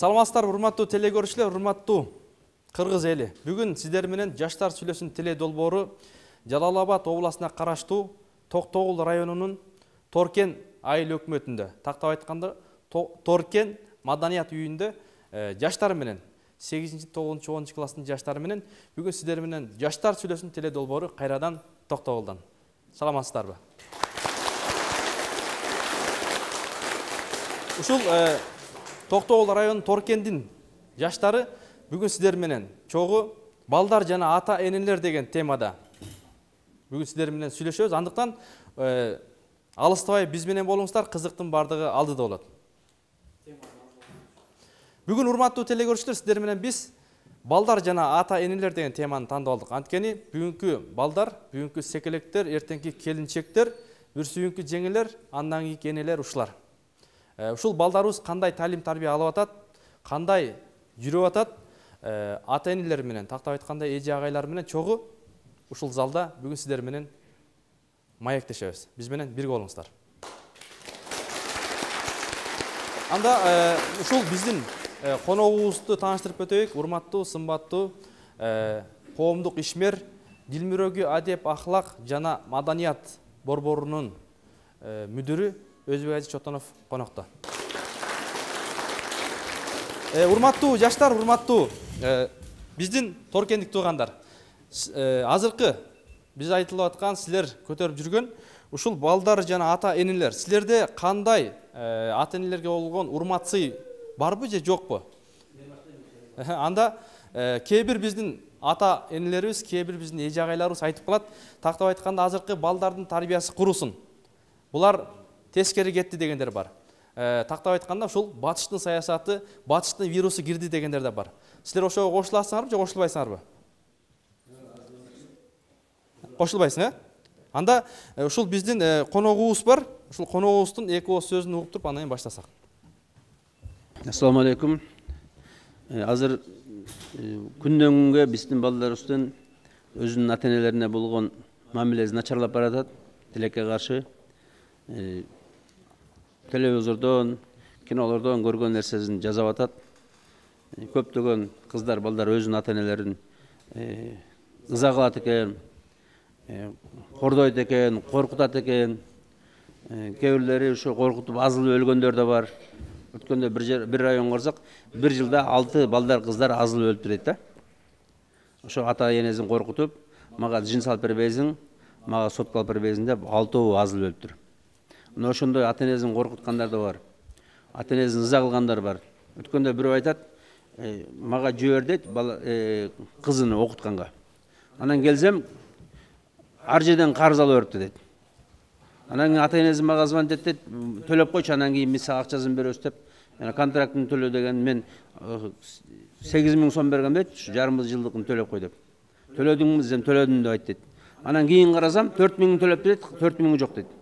Саламатсыздар, урматтуу телекөрүүчүлөр, урматтуу кыргыз эли. Бүгүн сиздер менен Жаштар сүйлөсүн теле долбоору Жалал Абад областына караштуу Токтогул районунун Торкен айыл өкмөтүндө, тактап айтканда Торкен маданият үйүндө жаштар менен 8-9-10 класстын жаштары менен бүгүн сиздер менен Жаштар сүйлөсүн теле долбоору кайрадан Токтогулдан. Саламатсыздарбы? Ушул Токтогул районунун Торкендин жаштары бүгүн сиздер менен чогуу балдар жана ата энелер деген темада бүгүн сиздер менен сүйлөшөбүз. Андыктан алыстабай биз менен болуңуздар, кызыктын бардыгы алдыда болот. Бүгүн урматтуу телекөрүүчүлөр, сиздер менен биз балдар жана ата энелер деген теманы тандап алдык. Анткени бүгүнкү балдар, бүгүнкү секелектер, эртеңки келинчектер, бүрсүйүнкү жеңелер, андан кийинки энелер ушулар. Ушул балдарыбыз кандай талим тарбия алып атат, кандай жүрүп атат, ата энелер менен, тактап айтканда эже агайлар менен чогуу ушул залда бүгүн сиздер менен маектешебиз. Биз менен бирге болуңуздар. Анда ушул биздин коногубузду тааныштырып өтөйүк. Урматтуу, сымбаттуу коомдук ишмер, дил мирөгү, адеп, ахлак жана маданият борборунун мүдүрү Өзбек Ажи Чотонов конокто. Урматтуу жаштар, урматтуу биздин торкендик туугандар. Азыркы биз айтылып аткан, силер көтөрүп жүргөн ушул балдар жана ата энелер, силерде кандай ата энелерге болгон урмат-сый барбы же жокпу? Анда кээ бир биздин ата энелерибиз, кээ бир биздин эже агайларыбыз айтып калат, тактап айтканда азыркы балдардын тарбиясы курусун. Булар тескери кетти дегендер бар. Тактап айтканда ушул батыштын саясаты, батыштын вирусу кирди дегендер да бар. Силер ошого кошуласыңарбы же кошулбайсыңарбы? Кошулбайсың, Анда ушул биздин коногубуз бар. Ушул коногубуздун эки ооз сөзүн угуп туруп андан кийин баштасак. Ассаламу алейкум. Азыр күндөн күнгө биздин балдарыбыздын өзүнүн ата энелерине болгон мамилеси начарлап баратат. Тилекке каршы телевизордон, кинолордон көргөн нерсесин жасап атат. Көптөгөн кыздар, балдар өзүнүн ата энелерин ыза кылат экен, кордойт экен, коркутат экен. Кээ бирлери ошо коркутуп азылып өлгөндөр да бар. Өткөндө бир районго барсак, бир жылда 6 балдар, кыздар азылып өлүптүр дейт да. Ошо ата энесин коркутуп, мага жин салып бербейсиң, мага сотко алып бербейсиң деп 6 азылып өлүптүр. Мына ошондой ата энесин коркуткандар да бар. Ата энесин ыза кылгандар бар. Өткөндө бирөө айтат, мага жибер дейт кызын окутканга. Анан келсем, ар жерден карыз алып берипти дейт. Анан кийин ата энеси мага звонить дейт, төлөп койчу, анан кийин биз сага акчасын беребиз деп, контрактын төлөө деген мен 8000 сом бергем дейт, жарым жылдыкын төлөп кой деп. Төлөдүңбү десем, төлөдүм деп айт дейт. Анан кийин карасам 4000 төлөп дейт, 4000 жок дейт.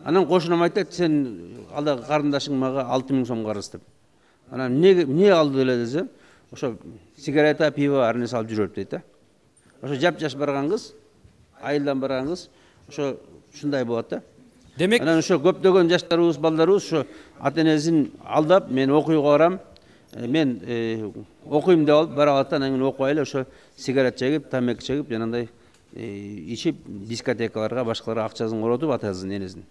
Анан кошунам айтат, сен ала карындашың мага 6000 сом карыз деп. Анан эмне алды эле десе, ошо сигарета, пиво, ар нерсе алып жүрөп дейт да. Ошо жап-жаш барган кыз, айылдан барган кыз, ошо ушундай болот да. Демек, анан ошо көптөгөн жаштарыбыз, балдарыбыз ошо ата энесин алдап, мен окууга барам, мен окуйм деп алып бара алат, анан кийин окубай эле ошо сигарет чегип, тамеки чегип, жанагындай ичип, дискотекаларга, башкаларга акчасын коротуп, атасынын энесин.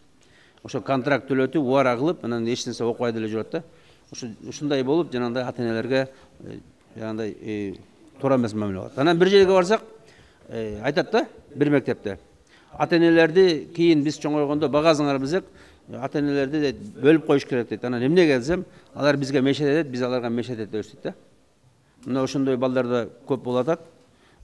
Ошо контракт төлөтүп, убара кылып, анан эч нерсе окубай деле жүрөт да. Ушундай болуп, жанагындай ата энелерге жанагындай туура эмес мамиле кылат. Анан бир жерге барсак, айтат да, бир мектепте. Ата энелерди кийин биз чоңойгондо багасыңар десек, ата энелерди бөлүп коюш керек дейт. Анан эмнеге десем, алар бизге мешет этет, биз аларга мешет этебиз дейт да. Мына ошондой балдар да көп болуп атат.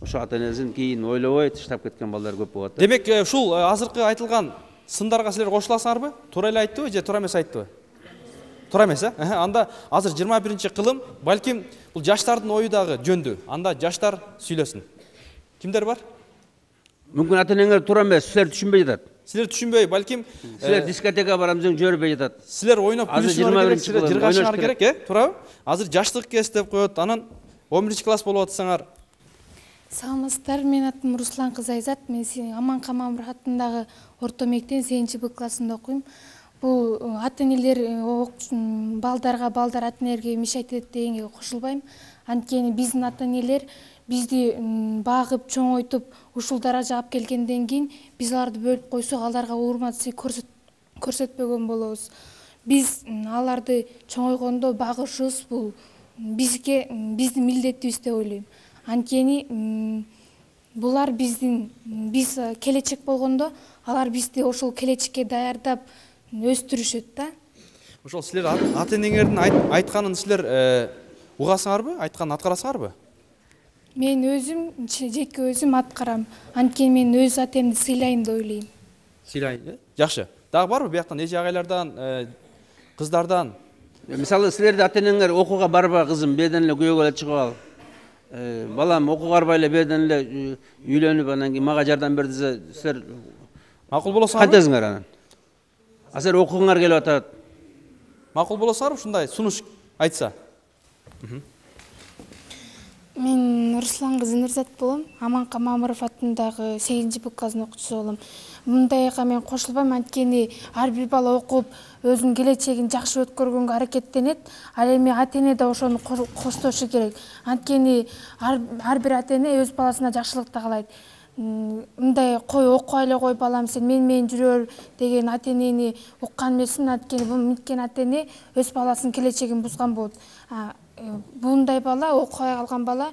Ошо ата энесин кийин ойлобой таштап кеткен балдар көп болот да. Демек, ушул азыркы айтылган сындарга силер кошуласыңарбы? Туура эле айттыбы же туура эмес айттыбы? Туура эмес, Анда азыр 21-кылым, балким бул жаштардын ою дагы жөндү. Анда жаштар сүйлөсүн. Кимдер бар? Мүмкүн ата энеңер туура эмес, силер түшүнбөй жатат. Силер түшүнбөй, балким силер дискотека барам десең жөрбөй жатат. Силер ойноп күлүшүңөр керек, силер жыргашыңар керек, туурабы? Азыр жаштык кез деп коет, анан 11 класс болуп атсаңар. Саламатсыздар, мен атым Руслан кызы Айзат. Мен Аман Камамуров атындагы орто мектептин 8-Б классында окуйм. бул ата-энелер балдар ата-энелерге мешать этет дегенге кошулбайм. Анткени биздин ата-энелер бизди багып, чоңойтуп, ушул даражага алып келгенден кийин биз аларды бөлүп койсок, аларга урмат көрсөтпөгөн болобуз. Биз аларды чоңойгондо багышыбыз бул биздин милдетибиз деп ойлойм. Анткени булар биз келечек болгондо алар бизди ошол келечекке даярдап өстүрүшөт да. Ошол силер ата-энеңердин айтканын силер угасыңарбы, айтканын аткарасыңарбы? Мен өзүм жеке өзүм аткарам. Анткени мен өз атемди сыйлайм деп ойлойм. Сыйлайм, жакшы. Дагы барбы бияктан эже агайлардан, кыздардан? Мисалы силерде ата-энеңер окууга барба кызым, беден эле күйөөгө эле чыгып ал. Балам окууга барбай эле беден эле үйлөнүп анан кийин мага жардам бер десе, силер Макул болосуңарбы? кантесиңер анан? Силер окууңар келип атат. Макул болосуңарбы ушундай сунуш айтса? Мен Руслан кызы Нурзат болом. Аманка Мамыров атындагы 8-БКнын окуучусу болом. Мындайга мен кошулбайм, анткени ар бир бала окуп, өзүнүн келечегин жакшы өткөргөнгө аракеттенет. Ал эми ата-эне да ошону коштошу керек. Анткени ар бир ата-эне өз баласына жакшылыкты каалайт. Мындай кой окуй эле кой балам, сен менен жүрөр деген ата-энени уккан эмесмин. Анткени бул мынткен ата-эне өз баласынын келечегин бузган болот. Мындай бала, окубай калган бала,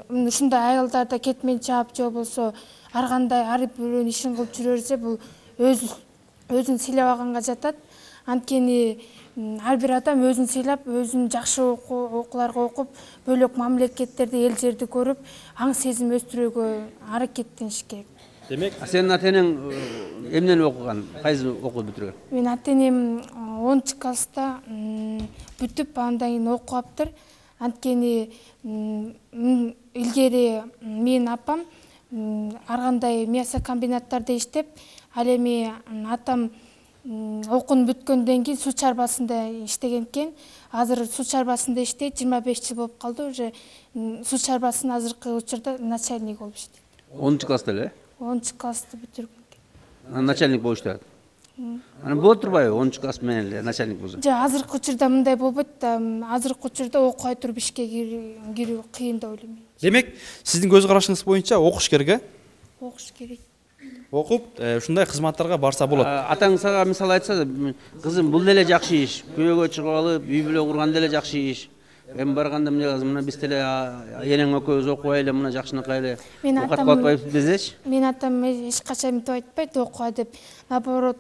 ушундай айылдарда кетмен чаап же болбосо ар кандай ар бирөөнүн ишин кылып жүрө берсе, бул өзүн сыйлабаганга жатат. Анткени ар бир адам өзүн сыйлап, өзүн жакшы окууларга окуп, бөлөк мамлекеттерди, эл жерди көрүп, аң сезим өстүрүүгө аракеттениш керек. Демек, Сенин ата-энең эмнени окуган? Кайсы окууду бүтүргөн? Мен ата-энем 10-класста бүтүп, андан кийин окуптыр. Анткени илгери менин апам ар кандай мясокомбинаттарда иштеп, ал эми атам окууну бүткөндөн кийин суу чарбасында иштеген экен. Азыр суу чарбасында иштейт, 25 жыл болуп калды. Уже суу чарбасынын азыркы учурда начальник болуп иштейт. 10-класста эле? 10-классты бүтүргөн. Начальник болуп иштеп атат. Анан болот турбайбы 10-класс менен эле начальник болсо? Жок, азыркы учурда мындай болбойт да. Азыркы учурда окубай туруп ишке кирүү кыйын деп ойлойм. демек, сиздин көз карашыңыз боюнча окуш керек, Окуш керек. окуп, ушундай кызматтарга барса болот. Атаң сага мисал айтса, кызым бул деле жакшы иш, күйөөгө чыгып алып, үй бүлө курган деле жакшы иш. Эми барганда мына биз деле энең экөөбүз окубай эле, мына жакшынакай эле окуп атпайбыз десечи? Мен атам эч качан мынтип айтпайт, окуа деп. Наоборот,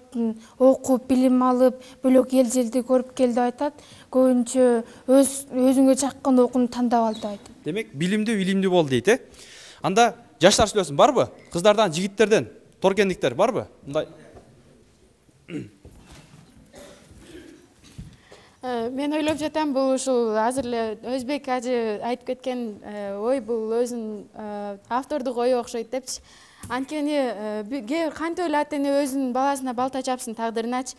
окуп, билим алып, бөлөк эл жерди көрүп кел деп айтат. Көбүнчө өзүңө жаккан окууну тандап ал деп айтат. Демек, билимдүү, илимдүү бол дейт, Анда жаштар сүйлөсүн, барбы? Кыздардан, жигиттерден, торкендиктер барбы? Мындай. Мен ойлоп жатам, бул ушул азыр эле Өзбек ажы айтып кеткен ой бул өзүнүн автордук ою окшойт депчи. Анткени кантип эле ата-эне өзүнүн баласына балта чапсын тагдырыначы.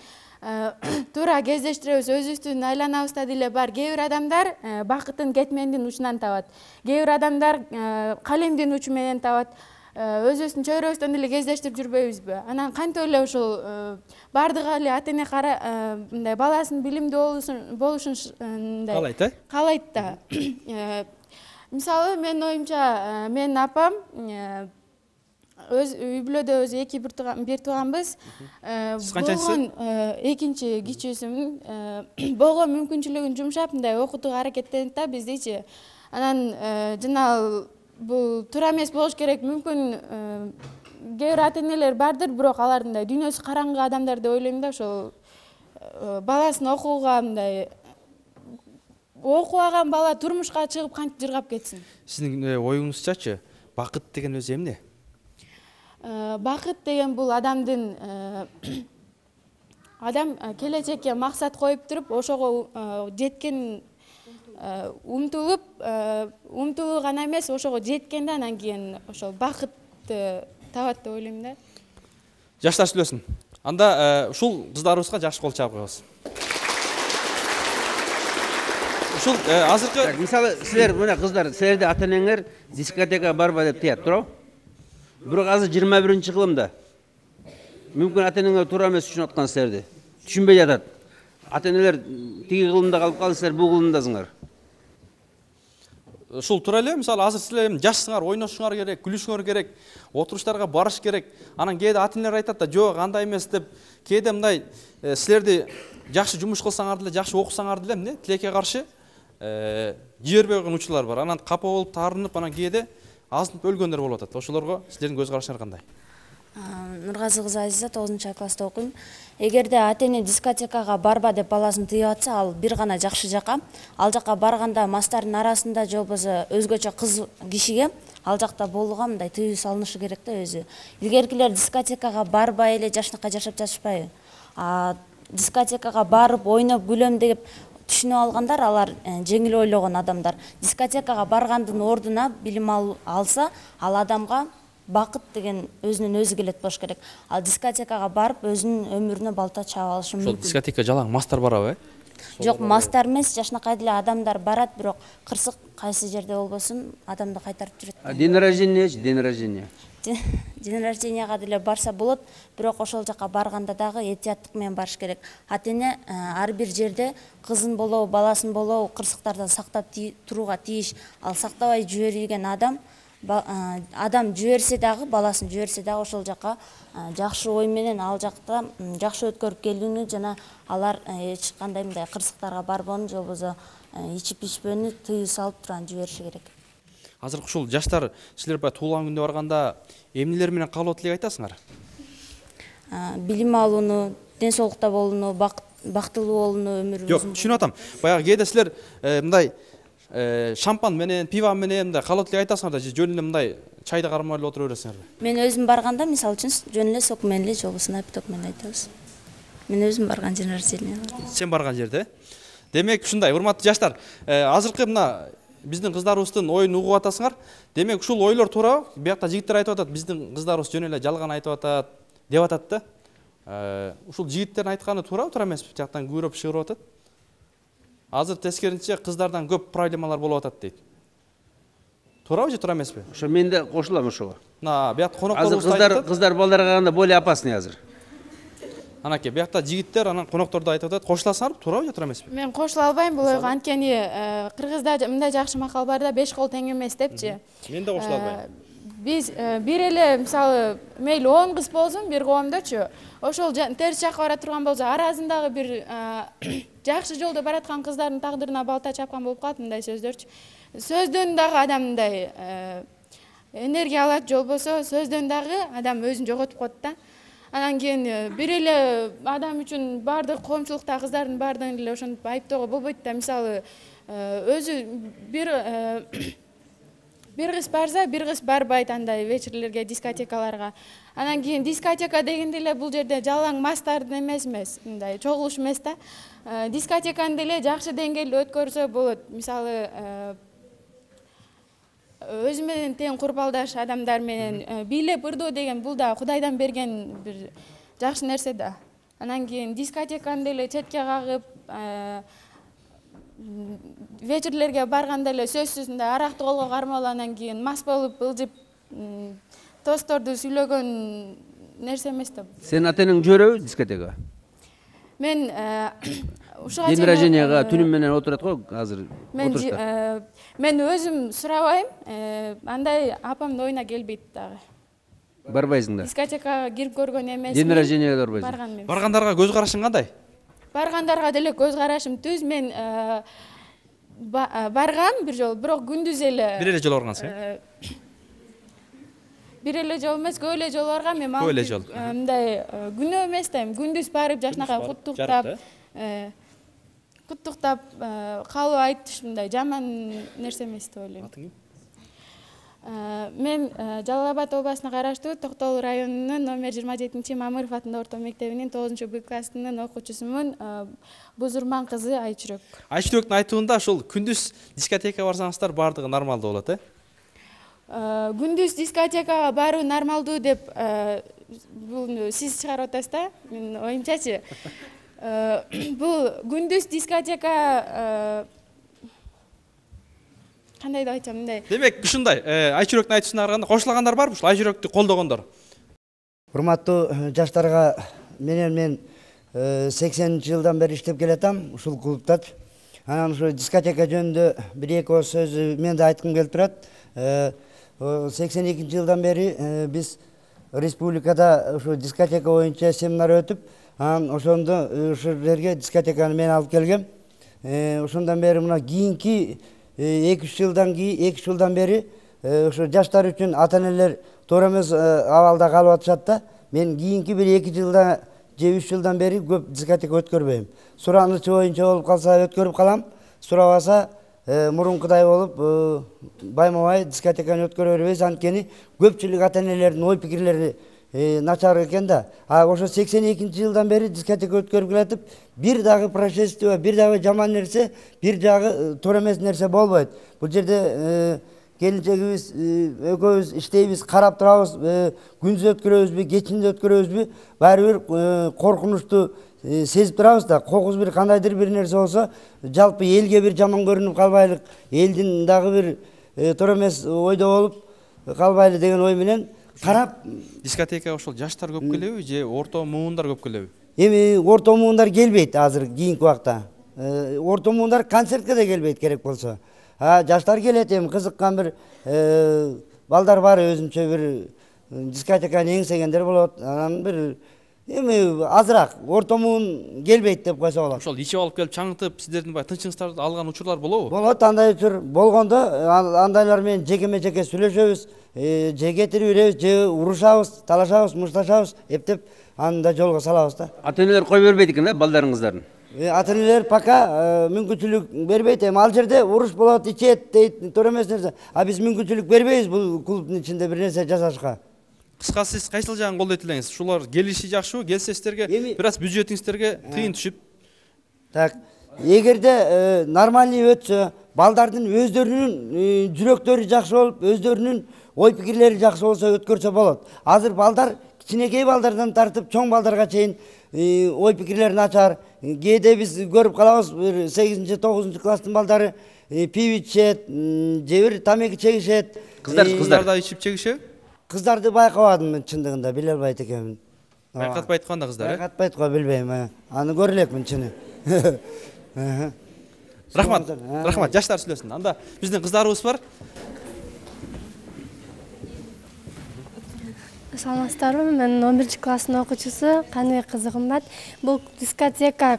Туура кездештиребиз, өзүбүздүн айланабызда деле бар. Кээ бир адамдар бакытын кетмендин учунан табат. Кээ бир адамдар калемдин учу менен табат. Өзүбүздүн чөйрөбүздөн деле кездештирип жүрбөйбүзбү? Анан кантип эле ушул бардыгы эле ата-эне мындай баласынын билимдүү болушун Каалайт, каалайт да. Мисалы, менин оюмча, менин апам үй бүлөдө өзү бир тууганбыз. Сиз канчанчысы? Экинчи кичүүсүмүн. Болгон мүмкүнчүлүгүн жумшап, мындай окутууга аракеттенет да биздичи. Анан жана бул туура эмес болуш керек. Мүмкүн кээ бир ата-энелер бардыр, бирок алар мындай дүйнөсү караңгы адамдар деп ойлойм да. Ошол баласын окууга мындай окубаган бала турмушка чыгып кантип жыргап кетсин? Сиздин оюңузчачы, бакыт деген өзү эмне? Бакыт деген бул адам келечекке максат коюп туруп, ошого жеткен умтулуу гана эмес, ошого жеткенде анан кийин ошол бакытты табат деп ойлойм да. Жаштар сүйлөсүн. Анда ушул кыздарыбызга жакшы кол чаап коебуз. Ушул азыркы Мисалы, силер мына кыздар, силерде ата-энеңер дискотекага барба деп тият, туурабы? Бирок азыр 21-кылымда мүмкүн ата-энеңер туура эмес үчүн аткан силерди. түшүнбөй жатат. Ата-энелер тиги кылымда калып калдыңыздар, бул кылымдасыңар. Ушул туура эле, мисалы азыр силер эми жашсыңар, ойношуңар керек, күлүшүңөр керек, отуруштарга барыш керек. Анан кээде ата-энелер айтат да, жок андай эмес деп. Кээде мындай силерди жакшы жумуш кылсаңар деле, жакшы окусаңар деле эмне тилекке каршы жибербей койгон учурлар бар. Анан капа болуп, таарынып, анан кээде азынып өлгөндөр болуп атат. Ошолорго силердин көз карашыңар кандай? Нургазы кызы Азиза 9-класста окуйм. Эгерде ата-эне дискотекага барба деп баласын тыйып атса, ал бир гана жакшы жака. Ал жака барганда мастардын арасында же болбосо өзгөчө кыз кишиге ал жакта болууга мындай тыюу салынышы керек да өзү. Илгеркилер дискотекага барбай эле жашнакай жашап жатышпайбы? Дискотекага барып ойноп күлөм деп түшүнүп алгандар, алар жеңил ойлогон адамдар. Дискотекага баргандын ордуна билим алса, ал адамга бакыт деген өзүнөн өзү келет болуш керек. Ал дискотекага барып өзүнүн өмүрүнө балта чаап алышы мүмкүн. Ошол дискотека жалаң мастар барабы, Жок, мастар эмес, жашнакай деле адамдар барат, бирок кырсык кайсы жерде болбосун адамды кайтарып жүрөт. День рождения, день рождения. День рожденияга деле барса болот, бирок ошол жака барганда дагы этияттык менен барыш керек. Ата-эне ар бир жерде кызын болобу, баласын болобу кырсыктардан сактап турууга тийиш. Ал сактабай жиберген адам жиберсе дагы, баласын жиберсе дагы ошол жака жакшы ой менен ал жакта жакшы өткөрүп келүүнү жана алар эч кандай мындай кырсыктарга барбоону же болбосо ичип ичпөөнү тыюу салып турган жибериши керек. Азыркы ушул жаштар силер баягы туулган күндө барганда эмнелер менен каалоо тилек айтасыңар? Билим алууну, ден соолукта болууну, бактылуу болууну өмүрүбүздүн. Жок, түшүнүп атам. Баягы кээде силер мындай шампан менен, пиво менен мындай каалоо тилек айтасыңар да, же жөн эле мындай чайды кармай эле отура бересиңерби? Мен өзүм барганда, мисалы үчүн, жөн эле сок менен эле, же болбосо напиток менен айтабыз. Мен өзүм барган день рождения. Сен барган жерде? Демек ушундай, урматтуу жаштар, азыркы мына биздин кыздарыбыздын оюн угуп атасыңар. Демек ушул ойлор туура. Биякта жигиттер айтып атат, биздин кыздарыбыз жөн эле жалган айтып атат, деп атат да. Ушул жигиттердин айтканы туура эмеспи? Жактан күбөрөп чыгырып атат. Азыр тескерисинче кыздардан көп проблемалар болуп атат дейт. Туурабы же туура эмеспи? Ошо мен да кошулам ошого. Мына биякта конокторубуз айтат. Кыздар балдарга караганда более опасный азыр. Анакей биякта жигиттер анан конокторду айтып атат. Кошуласыңарбы? Туурабы же туура эмеспи? Мен кошула албайм бул ойго. Анткени кыргызда мындай жакшы макал бар да, 5 кол тең эмес депчи. Мен да кошула албайм. Биз бир эле мисалы мейли 10 кыз болсун бир коомдочу, ошол терс жакка бара турган болсо, аразындагы бир жакшы жолдо бараткан кыздардын тагдырына балта чапкан болуп калат мындай сөздөрчү. Сөздөн дагы адам мындай энергия алат, же болбосо сөздөн дагы адам өзүн жоготуп коет да. Анан кийин бир эле адам үчүн баардык коомчулукта кыздардын баардыгын эле ошентип айыптоого болбойт да. Мисалы өзү бир кыз барса, бир кыз барбайт андай вечерлерге, дискотекаларга. Анан кийин дискотека дегенде эле бул жерде жалаң мастардын эмес, мындай чогулуш эмес да. Дискотеканы деле жакшы деңгээлде өткөрсө болот. Мисалы өзү менен тең курбалдаш адамдар менен бийлеп ырдоо деген бул да Кудайдан берген бир жакшы нерсе да. Анан кийин дискотеканы деле четке кагып, вечерлерге барганда эле сөзсүз мындай аракты колго кармап, анан кийин мас болуп ылжып тостторду сүйлөгөн нерсе эмес да. Сен ата-энең жиберөбү дискотекага? Мен ушуга день рожденияга түнүм менен отурат го азыр. Мен өзүм сурабайм, андай апамдын оюна келбейт дагы. Барбайсың да? Дискотекага кирип көргөн эмес. День рожденияга барбайсың. Баргандарга көз карашың кандай? Баргандарга деле көз карашым түз. Мен баргам бир жолу, бирок күндүз эле. Бир эле жолу баргансың? Бир эле жолу эмес, көп эле жолу баргам. Мен көп эле жолу. Мындай күнөө эмес да, күндүз барып жашнакай куттуктап калып айтыш мындай жаман нерсе эмес деп ойлойм. Атың ким? Мен Жалал Абад областына караштуу Токтогул районунун номер 27 Мамыров атындагы орто мектебинин 9-Б классынын окуучусумун. Бузурман кызы Айчүрөк. Айчүрөктүн айтуунда ошол күндүз дискотекага барсаңыздар баардыгы нормалдуу болот, Күндүз дискотекага баруу нормалдуу деп бул сиз чыгарып атасыз да, менин оюмчачы. Бул күндүз дискотека кандай деп айтсам мындай. Демек ушундай Айчүрөктүн айтуусуна караганда кошулагандар барбы ушул Айчүрөктү колдогондор? Урматтуу жаштарга мен 80 жылдан бери иштеп келатам ушул клубта. Анан ушу дискотека жөнүндө бир-эки ооз сөз мен да айткым келип турат. 82 жылдан бери биз республикада ушу дискотека боюнча семинар өтүп, анан ошондо ушул жерге дискотеканы мен алып келгем. Ошондон бери мына кийинки 2-3 жылдан бери ушу жаштар үчүн ата-энелер туура эмес абалда калып атышат да. Мен кийинки бир 2 жылда же 3 жылдан бери көп дискотека өткөрбөйм. Суранычы боюнча болуп калса өткөрүп калам, сурабаса мурункудай болуп байма-бай дискотеканы өткөрө бербейбиз. Анткени көпчүлүк ата-энелердин ой пикирлери начар экен да. Ошо 82 жылдан бери дискотека өткөрүп келатып, бир дагы происшествие, бир дагы жаман нерсе, бир дагы туура эмес нерсе болбойт. Бул жерде келинчегибиз экөөбүз иштейбиз, карап турабыз, күндүз өткөрөбүзбү, кечинде өткөрөбүзбү, баары бир коркунучту сезип турабыз да. Кокус бир кандайдыр бир нерсе болсо, жалпы элге бир жаман көрүнүп калбайлык, элдин дагы бир туура эмес ойдо болуп калбайлы деген ой менен карап. Дискотекага ошол жаштар көп келеби же орто муундар көп келеби? Эми орто муундар келбейт азыр кийинки убакта. Орто муундар концертке да келбейт керек болсо. Жаштар келет, эми кызыккан бир балдар бар, өзүнчө бир дискотеканы эңсегендер болот. Анан бир эми азыраак орто муун келбейт деп койсо болот. Ошол ичип алып келип чаңытып, сиздердин баягы тынчыңыздарды алган учурлар болобу? Болот, андай учур болгондо андайлар менен жеке-жеке сүйлөшөбүз, же кетирип беребиз, же урушабыз, талашабыз, мушташабыз, эптеп аны да жолго салабыз да. Ата-энелер кой бербейт экен да балдарыңыздардын? Ата-энелер пока мүмкүнчүлүк бербейт. Эми ал жерде уруш болот, ичет дейт, туура эмес нерсе. Биз мүмкүнчүлүк бербейбиз бул клубдун ичинде бир нерсе жасашка. Кыскасы сиз кайсыл жагын колдойт элеңиз? Ушулар келиши жакшыбы? Келсе сиздерге бир аз бюджетиңиздерге тыйын түшүп. Так, эгерде нормальный өтсө, балдардын өздөрүнүн жүрөктөрү жакшы болуп, өздөрүнүн ой пикирлери жакшы болсо өткөрсө болот. Азыр балдар кичинекей балдардан тартып чоң балдарга чейин ой пикирлери начар. Кээде биз көрүп калабыз, 8-9 класстын балдары пиво ичет, же бир тамеки чегишет. Кыздар да ичип чегишеби? Кыздарды байкабадым мен, чындыгында биле албайт экенмин. Байкатпайт кандай кыздар? Байкатпайт го, билбейм. Аны көрө элекмин чыны. Рахмат, жаштар сүйлөсүн. Анда биздин кыздарыбыз бар. Саламатсыздарбы? Мен 11 класстын окуучусу Каныбек кызы Кымбат. Бул дискотека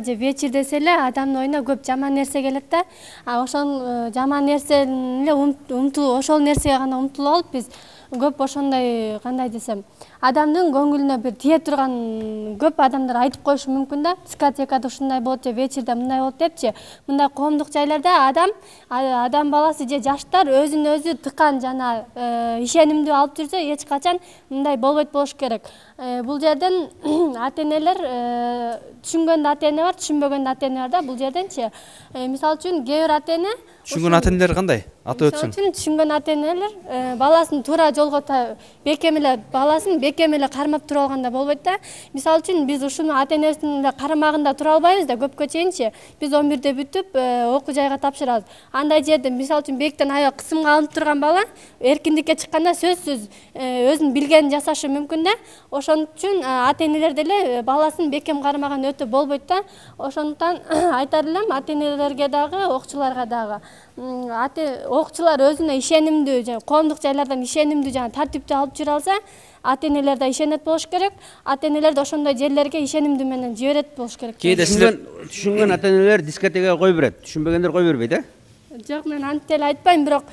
же вечер десе эле адамдын оюна көп жаман нерсе келет да. Ошол жаман нерсени эле ошол нерсеге гана умтулуп алып биз көп ошондой, кандай десем, адамдын көңүлүнө бир тие турган көп адамдар айтып коюшу мүмкүн да. Дискотекада ушундай болот же вечерде мындай болот депчи. Мындай коомдук жайларда адам баласы же жаштар өзүн өзү тыкан жана ишенимдүү алып жүрсө эч качан мындай болбойт болуш керек. Бул жерден ата-энелер түшүнгөн ата-эне бар, түшүнбөгөн ата-эне бар да. Бул жерденчи мисалы үчүн кээ бир ата-эне Түшүнгөн ата-энелер кандай? Аты өтсүн. Түшүнгөн ата-энелер баласын туура жолго бекем эле кармап тура алганда болбойт да. Мисалы үчүн биз ушуну ата-энесинин карамагында тура албайбыз да. Көпкө чейинчи биз 11-де бүтүп окуу жайга тапшырабыз. Андай жерде мисалы үчүн бектен аябай кысымга алынып турган бала эркиндикке чыкканда сөзсүз өзүнүн билгенин жасашы мүмкүн да. Ошон үчүн ата-энелер деле баласын бекем кармаган өтө болбойт да. Ошондуктан айтар элем ата-энелерге дагы, окуучуларга дагы. Окуучулар өзүнө ишенимдүү, коомдук жайлардан ишенимдүү жана тартиптүү алып жүрө алса, ата-энелер да ишенет болуш керек. Ата-энелер да ошондой жерлерге ишенимдүү менен жиберет болуш керек. Кээде түшүнгөн ата-энелер дискотекага кой берет, түшүнбөгөндөр кой бербейт, Жок, мен антип эле айтпайм, бирок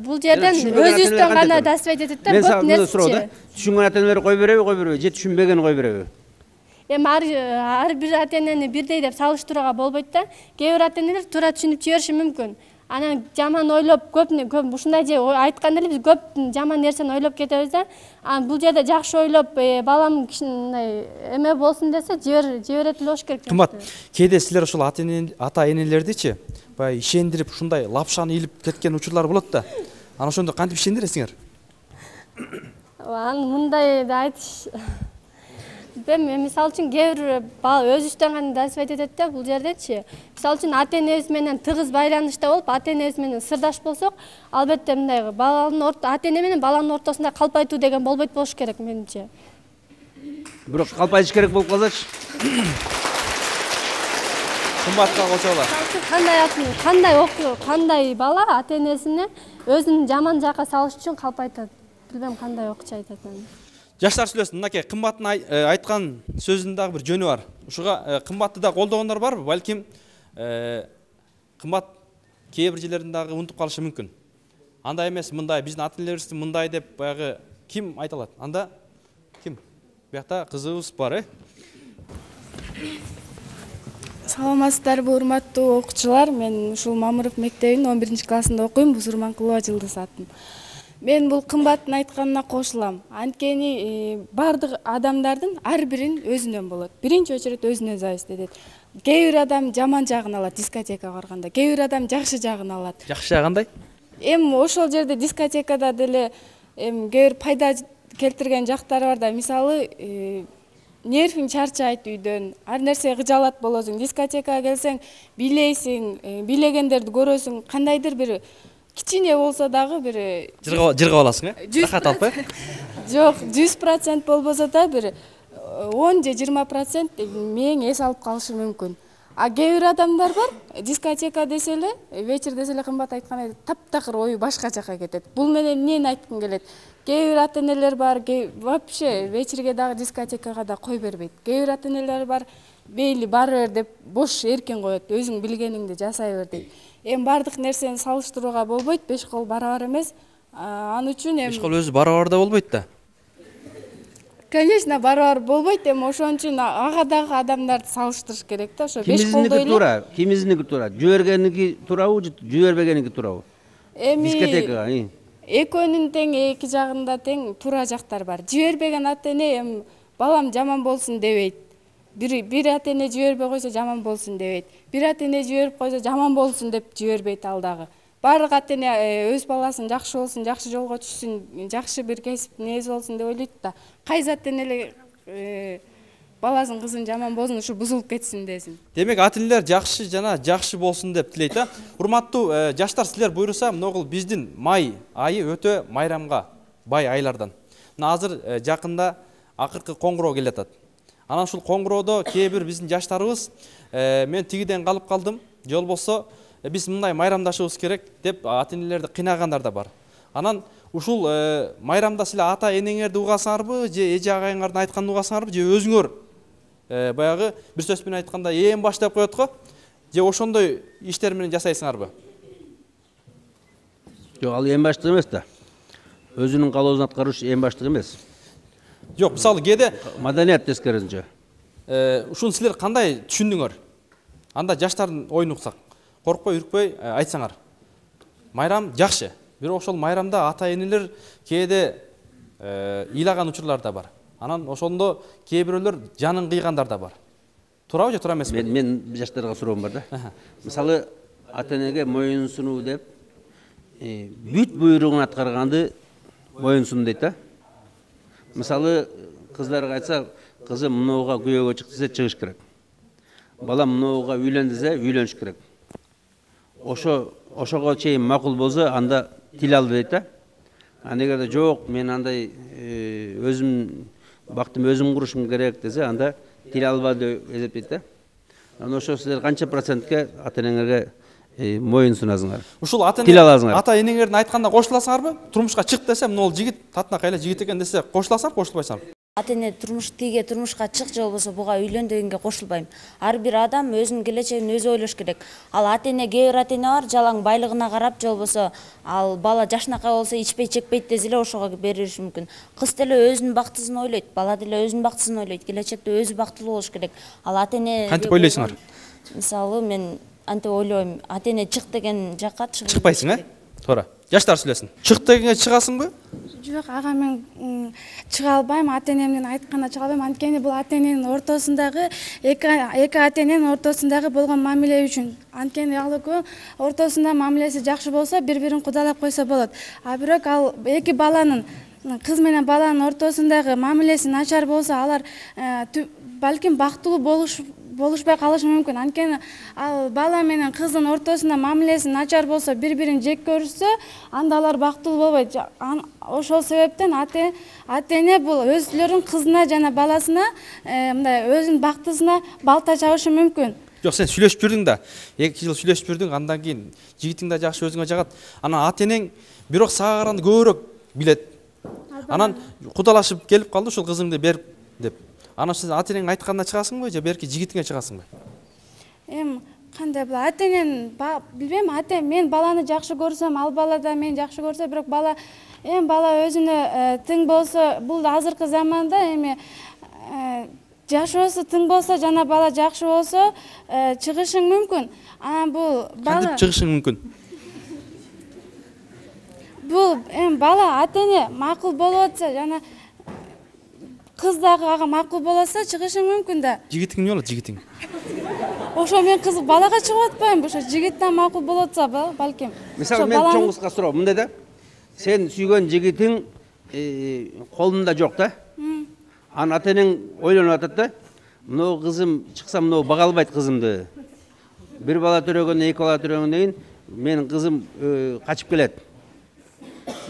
бул жерден өзүбүздөн гана дасвет этет да, көп нерсе. Түшүнгөн ата-энелер кой береби, же түшүнбеген кой береби? Эми ар бир ата-энени бирдей деп салыштырууга болбойт да. Кээ бир ата-энелер туура түшүнүп жибериши мүмкүн. Анан жаман ойлоп көп ушундай же айтканда эле биз көп жаман нерсени ойлоп кетебиз да. Бул жерде жакшы ойлоп балам кичине эме болсун десе жиберет болуш керек. Кымбат, кээде силер ошол ата-энелердичи баягы ишендирип ушундай лапшаны илип кеткен учурлар болот да. Анан ошондо кантип ишендиресиңер? Мындай да айтыш. Мисалы үчүн кээ бир бала өзүбүздөн гана дасвет этет да. Бул жердечи мисалы үчүн ата-энебиз менен тыгыз байланышта болуп, ата-энебиз менен сырдаш болсок, албетте мындай ата-эне менен баланын ортосунда калпайтуу деген болбойт болуш керек менимче. бирок калпайтыш керек болуп калсачы. Кымбатка кошоло. Кандай бала ата-энесине өзүн жаман жакка салыш үчүн калпайтат. Билбем кандай окчу айтат аны. Жаштар сүйлөсүн. Мынакей кымбаттын айткан сөзүнүн дагы бир жөнү бар. Ушуга кымбатты да колдогондор барбы? Балким кымбат кээ бир жерлерин дагы унутуп калышы мүмкүн. Андай эмес, мындай биздин ата-энелерибизди мындай деп баягы ким айта алат? Анда ким? Биякта кызыбыз бар, Саламатсыздарбы, урматтуу окуучулар. Мен ушул Мамыров мектебинин 11-классында окуйм. Бузурманкулова Жылдыз атым. Мен бул кымбаттын айтканына кошулам. Анткени бардык адамдардын ар бирин өзүнөн болот. Биринчи очередь өзүнөн зависит этет. Кээ бир адам жаман жагын алат дискотекага барганда, кээ бир адам жакшы жагын алат. Жакшы жагы кандай? Ошол жерде дискотекада деле кээ бир пайда келтирген жактары бар да. Мисалы, нервиң чарчайт үйдөн, ар нерсе кыжалат болосуң. Дискотекага келсең, бийлейсиң, бийлегендерди көрөсүң, кандайдыр бир кичине болсо дагы бир жыргап аласың, рахат алып, Жок, 100% болбосо да бир 10 же 20% мээң эс алып калышы мүмкүн. А кээ бир адамдар бар, дискотека десе эле, вечер десе эле кымбат айткандай таптакыр ою башка жака кетет. Бул менен эмнени айткым келет? Кээ бир ата-энелер бар, вообще вечерге дагы дискотекага да кой бербейт. Кээ бир ата-энелер бар, бейли бара бер деп бош эркин коет, өзүң билгениңди жасай бер дейт. Бардык нерсени салыштырууга болбойт, 5 кол барабар эмес. Аны үчүн 5 кол өзү барабар да болбойт да. Конечно, барабар болбойт, ошон үчүн ага дагы адамдарды салыштырыш керек да. Ошо 5 колдой эле. Кимиздики туура? Жибергеники туурабы же жибербегеники туурабы? Дискотекага. Экөөнүн тең, эки жагында тең туура жактар бар. Жибербеген ата-эне балам жаман болсун дебейт. Бир ата-эне жибербей койсо жаман болсун дебейт. Бир ата-эне жиберип койсо жаман болсун деп жибербейт ал дагы. Бардык ата-эне өз баласын жакшы болсун, жакшы жолго түшсүн, жакшы бир кесип нээси болсун деп ойлойт да. Кайсы ата-эне эле баласын, кызын жаман болсун, ушу бузулуп кетсин десин. Демек, ата-энелер жакшы болсун деп тилейт. Урматтуу жаштар, силер буйруса, могул биздин май айы өтө майрамга бай айлардан. Азыр жакында акыркы коңгуроо келатат. Анан ушул коңгуроодо кээ бир биздин жаштарыбыз мен тигиден калып калдым, же болбосо биз мындай майрамдашыбыз керек деп ата-энелерди кыйнагандар да бар. Анан ушул майрамда силер ата-энеңерди угасаңарбы, же эже агайыңардын айтканын угасаңарбы, же өзүңөр баягы бир сөз менен айтканда эң баш деп коет го, же ошондой иштер менен жасайсыңарбы? Жок, ал эң баштык эмес да. Өзүнүн калоосун аткарыш эң баштык эмес. Жок, мисалы кээде маданият тескерисинче. Ушуну силер кандай түшүндүңөр? Анда жаштардын оюн уксак, коркпой, үркпөй айтсаңар. Майрам жакшы. Бирок ошол майрамда ата-энелер кээде ыйлаган учурлар да бар. Анан ошондо кээ бирөөлөр жанын кыйгандар да бар. Туурабы же туура эмеспи? Мен жаштарга суроом бар да. Мисалы, ата-энеге моюн сунуу деп бүт буйругун аткарганды моюн сун дейт да. Мисалы, кыздарга айтса, кызым мынууга күйөөгө чык десе чыгыш керек. Бала мынууга үйлөн десе үйлөнүш керек. Ошого чейин макул болсо, анда тил ал дейт да. Эгерде жок, мен андай өзүм бактым өзүм курушум керек десе, анда тил алба деп эсептейт да. Анан ошо силер канча процентке ата-энеңерге моюн сунасыңар? Ушул ата-энеңердин айтканда кошуласыңарбы? Турмушка чык десе, могул жигит татына кайла жигит экен десе, кошуласыңар, кошулбайсыңарбы? Ата-эне турмушка чык же болбосо буга үйлөн дегенге кошулбайм. Ар бир адам өзүнүн келечегин өзү ойлош керек. Ал ата-эне, кээ бир ата-эне бар, жалаң байлыгына карап, же болбосо ал бала жашынакай болсо ичпей чекпейт десе эле ошого бериши мүмкүн. Кыз деле өзүнүн бактысын ойлойт, бала деле өзүнүн бактысын ойлойт. Келечекте өзү бактылуу болуш керек. Ал ата-эне кантип ойлойсуңар? Мисалы, мен антип ойлойм, ата-эне чык деген жакка чыкпайсың, Туура. Жаштар сүйлөсүн. Чык дегенге чыгасыңбы? Жок, ага мен чыга албайм, ата-энемдин айтканына чыга албайм. Анткени бул ата-эненин ортосундагы эки ата-эненин ортосундагы болгон мамиле үчүн. Анткени ал экөө ортосунда мамилеси жакшы болсо, бири-бирин кудалап койсо болот. А бирок ал эки баланын, кыз менен баланын ортосундагы мамилеси начар болсо, алар балким бактылуу болушпай калышы мүмкүн. Анткени ал бала менен кыздын ортосунда мамилеси начар болсо, бири-бирин жек көрүшсө, анда алар бактылуу болбойт. Ошол себептен ата-эне бул өзүлөрүнүн кызына жана баласына мындай өзүнүн бактысына балта чабышы мүмкүн. Жок, сен сүйлөшүп жүрдүң да. 2 жыл сүйлөшүп жүрдүң, андан кийин жигитиң да жакшы өзүңө жагат. Анан ата-энең бирок сага караганда көбүрөөк билет. Анан кудалашып келип калды ушул кызыңды берип деп. Анан сен ата-энең айтканына чыгасыңбы же берки жигитиңе чыгасыңбы? Кандай бул ата-энен билбейм, мен баланы жакшы көрсөм, ал бала да мени жакшы көрсө, бирок бала өзүнө тең болсо, бул азыркы заманда жашоосу тең болсо жана бала жакшы болсо чыгышың мүмкүн. Анан бул бала Кантип чыгышың мүмкүн? Бул бала ата-эне макул болуп атса жана кыз дагы ага макул болсо чыгышың мүмкүн да. Жигитиң эмне болот, жигитиң? Ошо мен кыз балага чыгып атпаймынбы? Ошо жигиттен макул болуп атса балким. Мисалы мен чоң кызга суроо, мындай да. Сен сүйгөн жигитиң колунда жок да. Анан ата-энең ойлонуп атат да. Мынау кызым чыкса, мынау бага албайт кызымды. Бир бала төрөгөндөн 2 бала төрөгөндөн кийин менин кызым качып келет.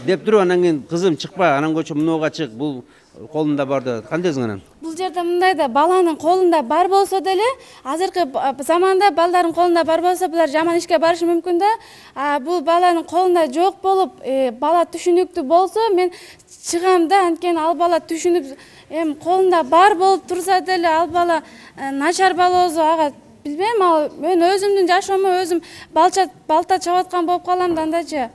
Деп туруп анан кийин кызым чыкпа, анан көчө мынауга чык, бул колунда бар да. Кандай дейсиң анан? Бул жерде мындай да, баланын колунда бар болсо деле, азыркы заманда балдардын колунда бар болсо, булар жаман ишке барышы мүмкүн да. Бул баланын колунда жок болуп, бала түшүнүктүү болсо, мен чыгам да, анткени ал бала түшүнүп, колунда бар болуп турса деле, ал бала начар бала болсо, ага билбейм, мен өзүмдүн жашоомо өзүм балта чабып аткан болуп калам да андачы.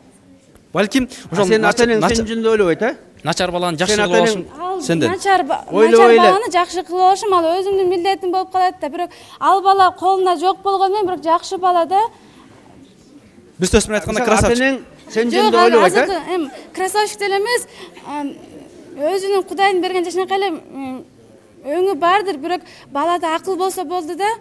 Балким, ошол сен ата-энең сен жөнүндө ойлобойт, начар баланы жакшы кылып алышың сенден. Начар баланы жакшы кылып алышым, ал өзүмдүн милдетим болуп калат да. Бирок ал бала колунда жок болгону менен, бирок жакшы бала да. Бир сөз менен айтканда красавчик. Ата-энең сен жөнүндө ойлобойт, красавчик деле эмес. Өзүнүн Кудайдын берген жашынакай эле өңү бардыр, бирок балада акыл болсо болду да.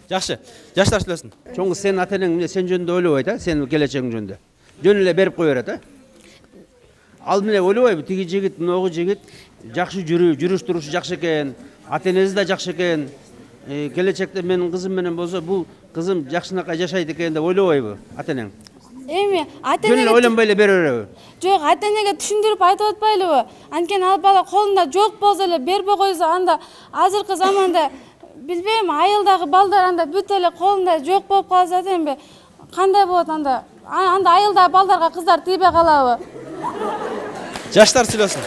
Жакшы. Жаштар сүйлөсүн. Чоң кыз сен ата-энең сен жөнүндө ойлобойт, сен келечегиң жөнүндө. Жөн эле берип кое берет, Ал менен ойлобойбу, тиги жигит, мыногу жигит жакшы жүрүш турушу жакшы экен, ата-энеси да жакшы экен. Келечекте менин кызым менен болсо, бул кызым жакшынакай жашайт экен деп ойлобойбу ата-энең? Ата-энеге жөн ойлонбой эле бере береби? Жок, ата-энеге түшүндүрүп айтып атпайлыбы? Анткени ал бала колунда жок болсо эле бербей койсо, анда азыркы заманда билбейм, айылдагы балдар анда бүт эле колунда жок болуп калса да, кандай болот анда? Анда айылдагы балдарга кыздар тийбей калабы? Жаштар сүйлөсүн.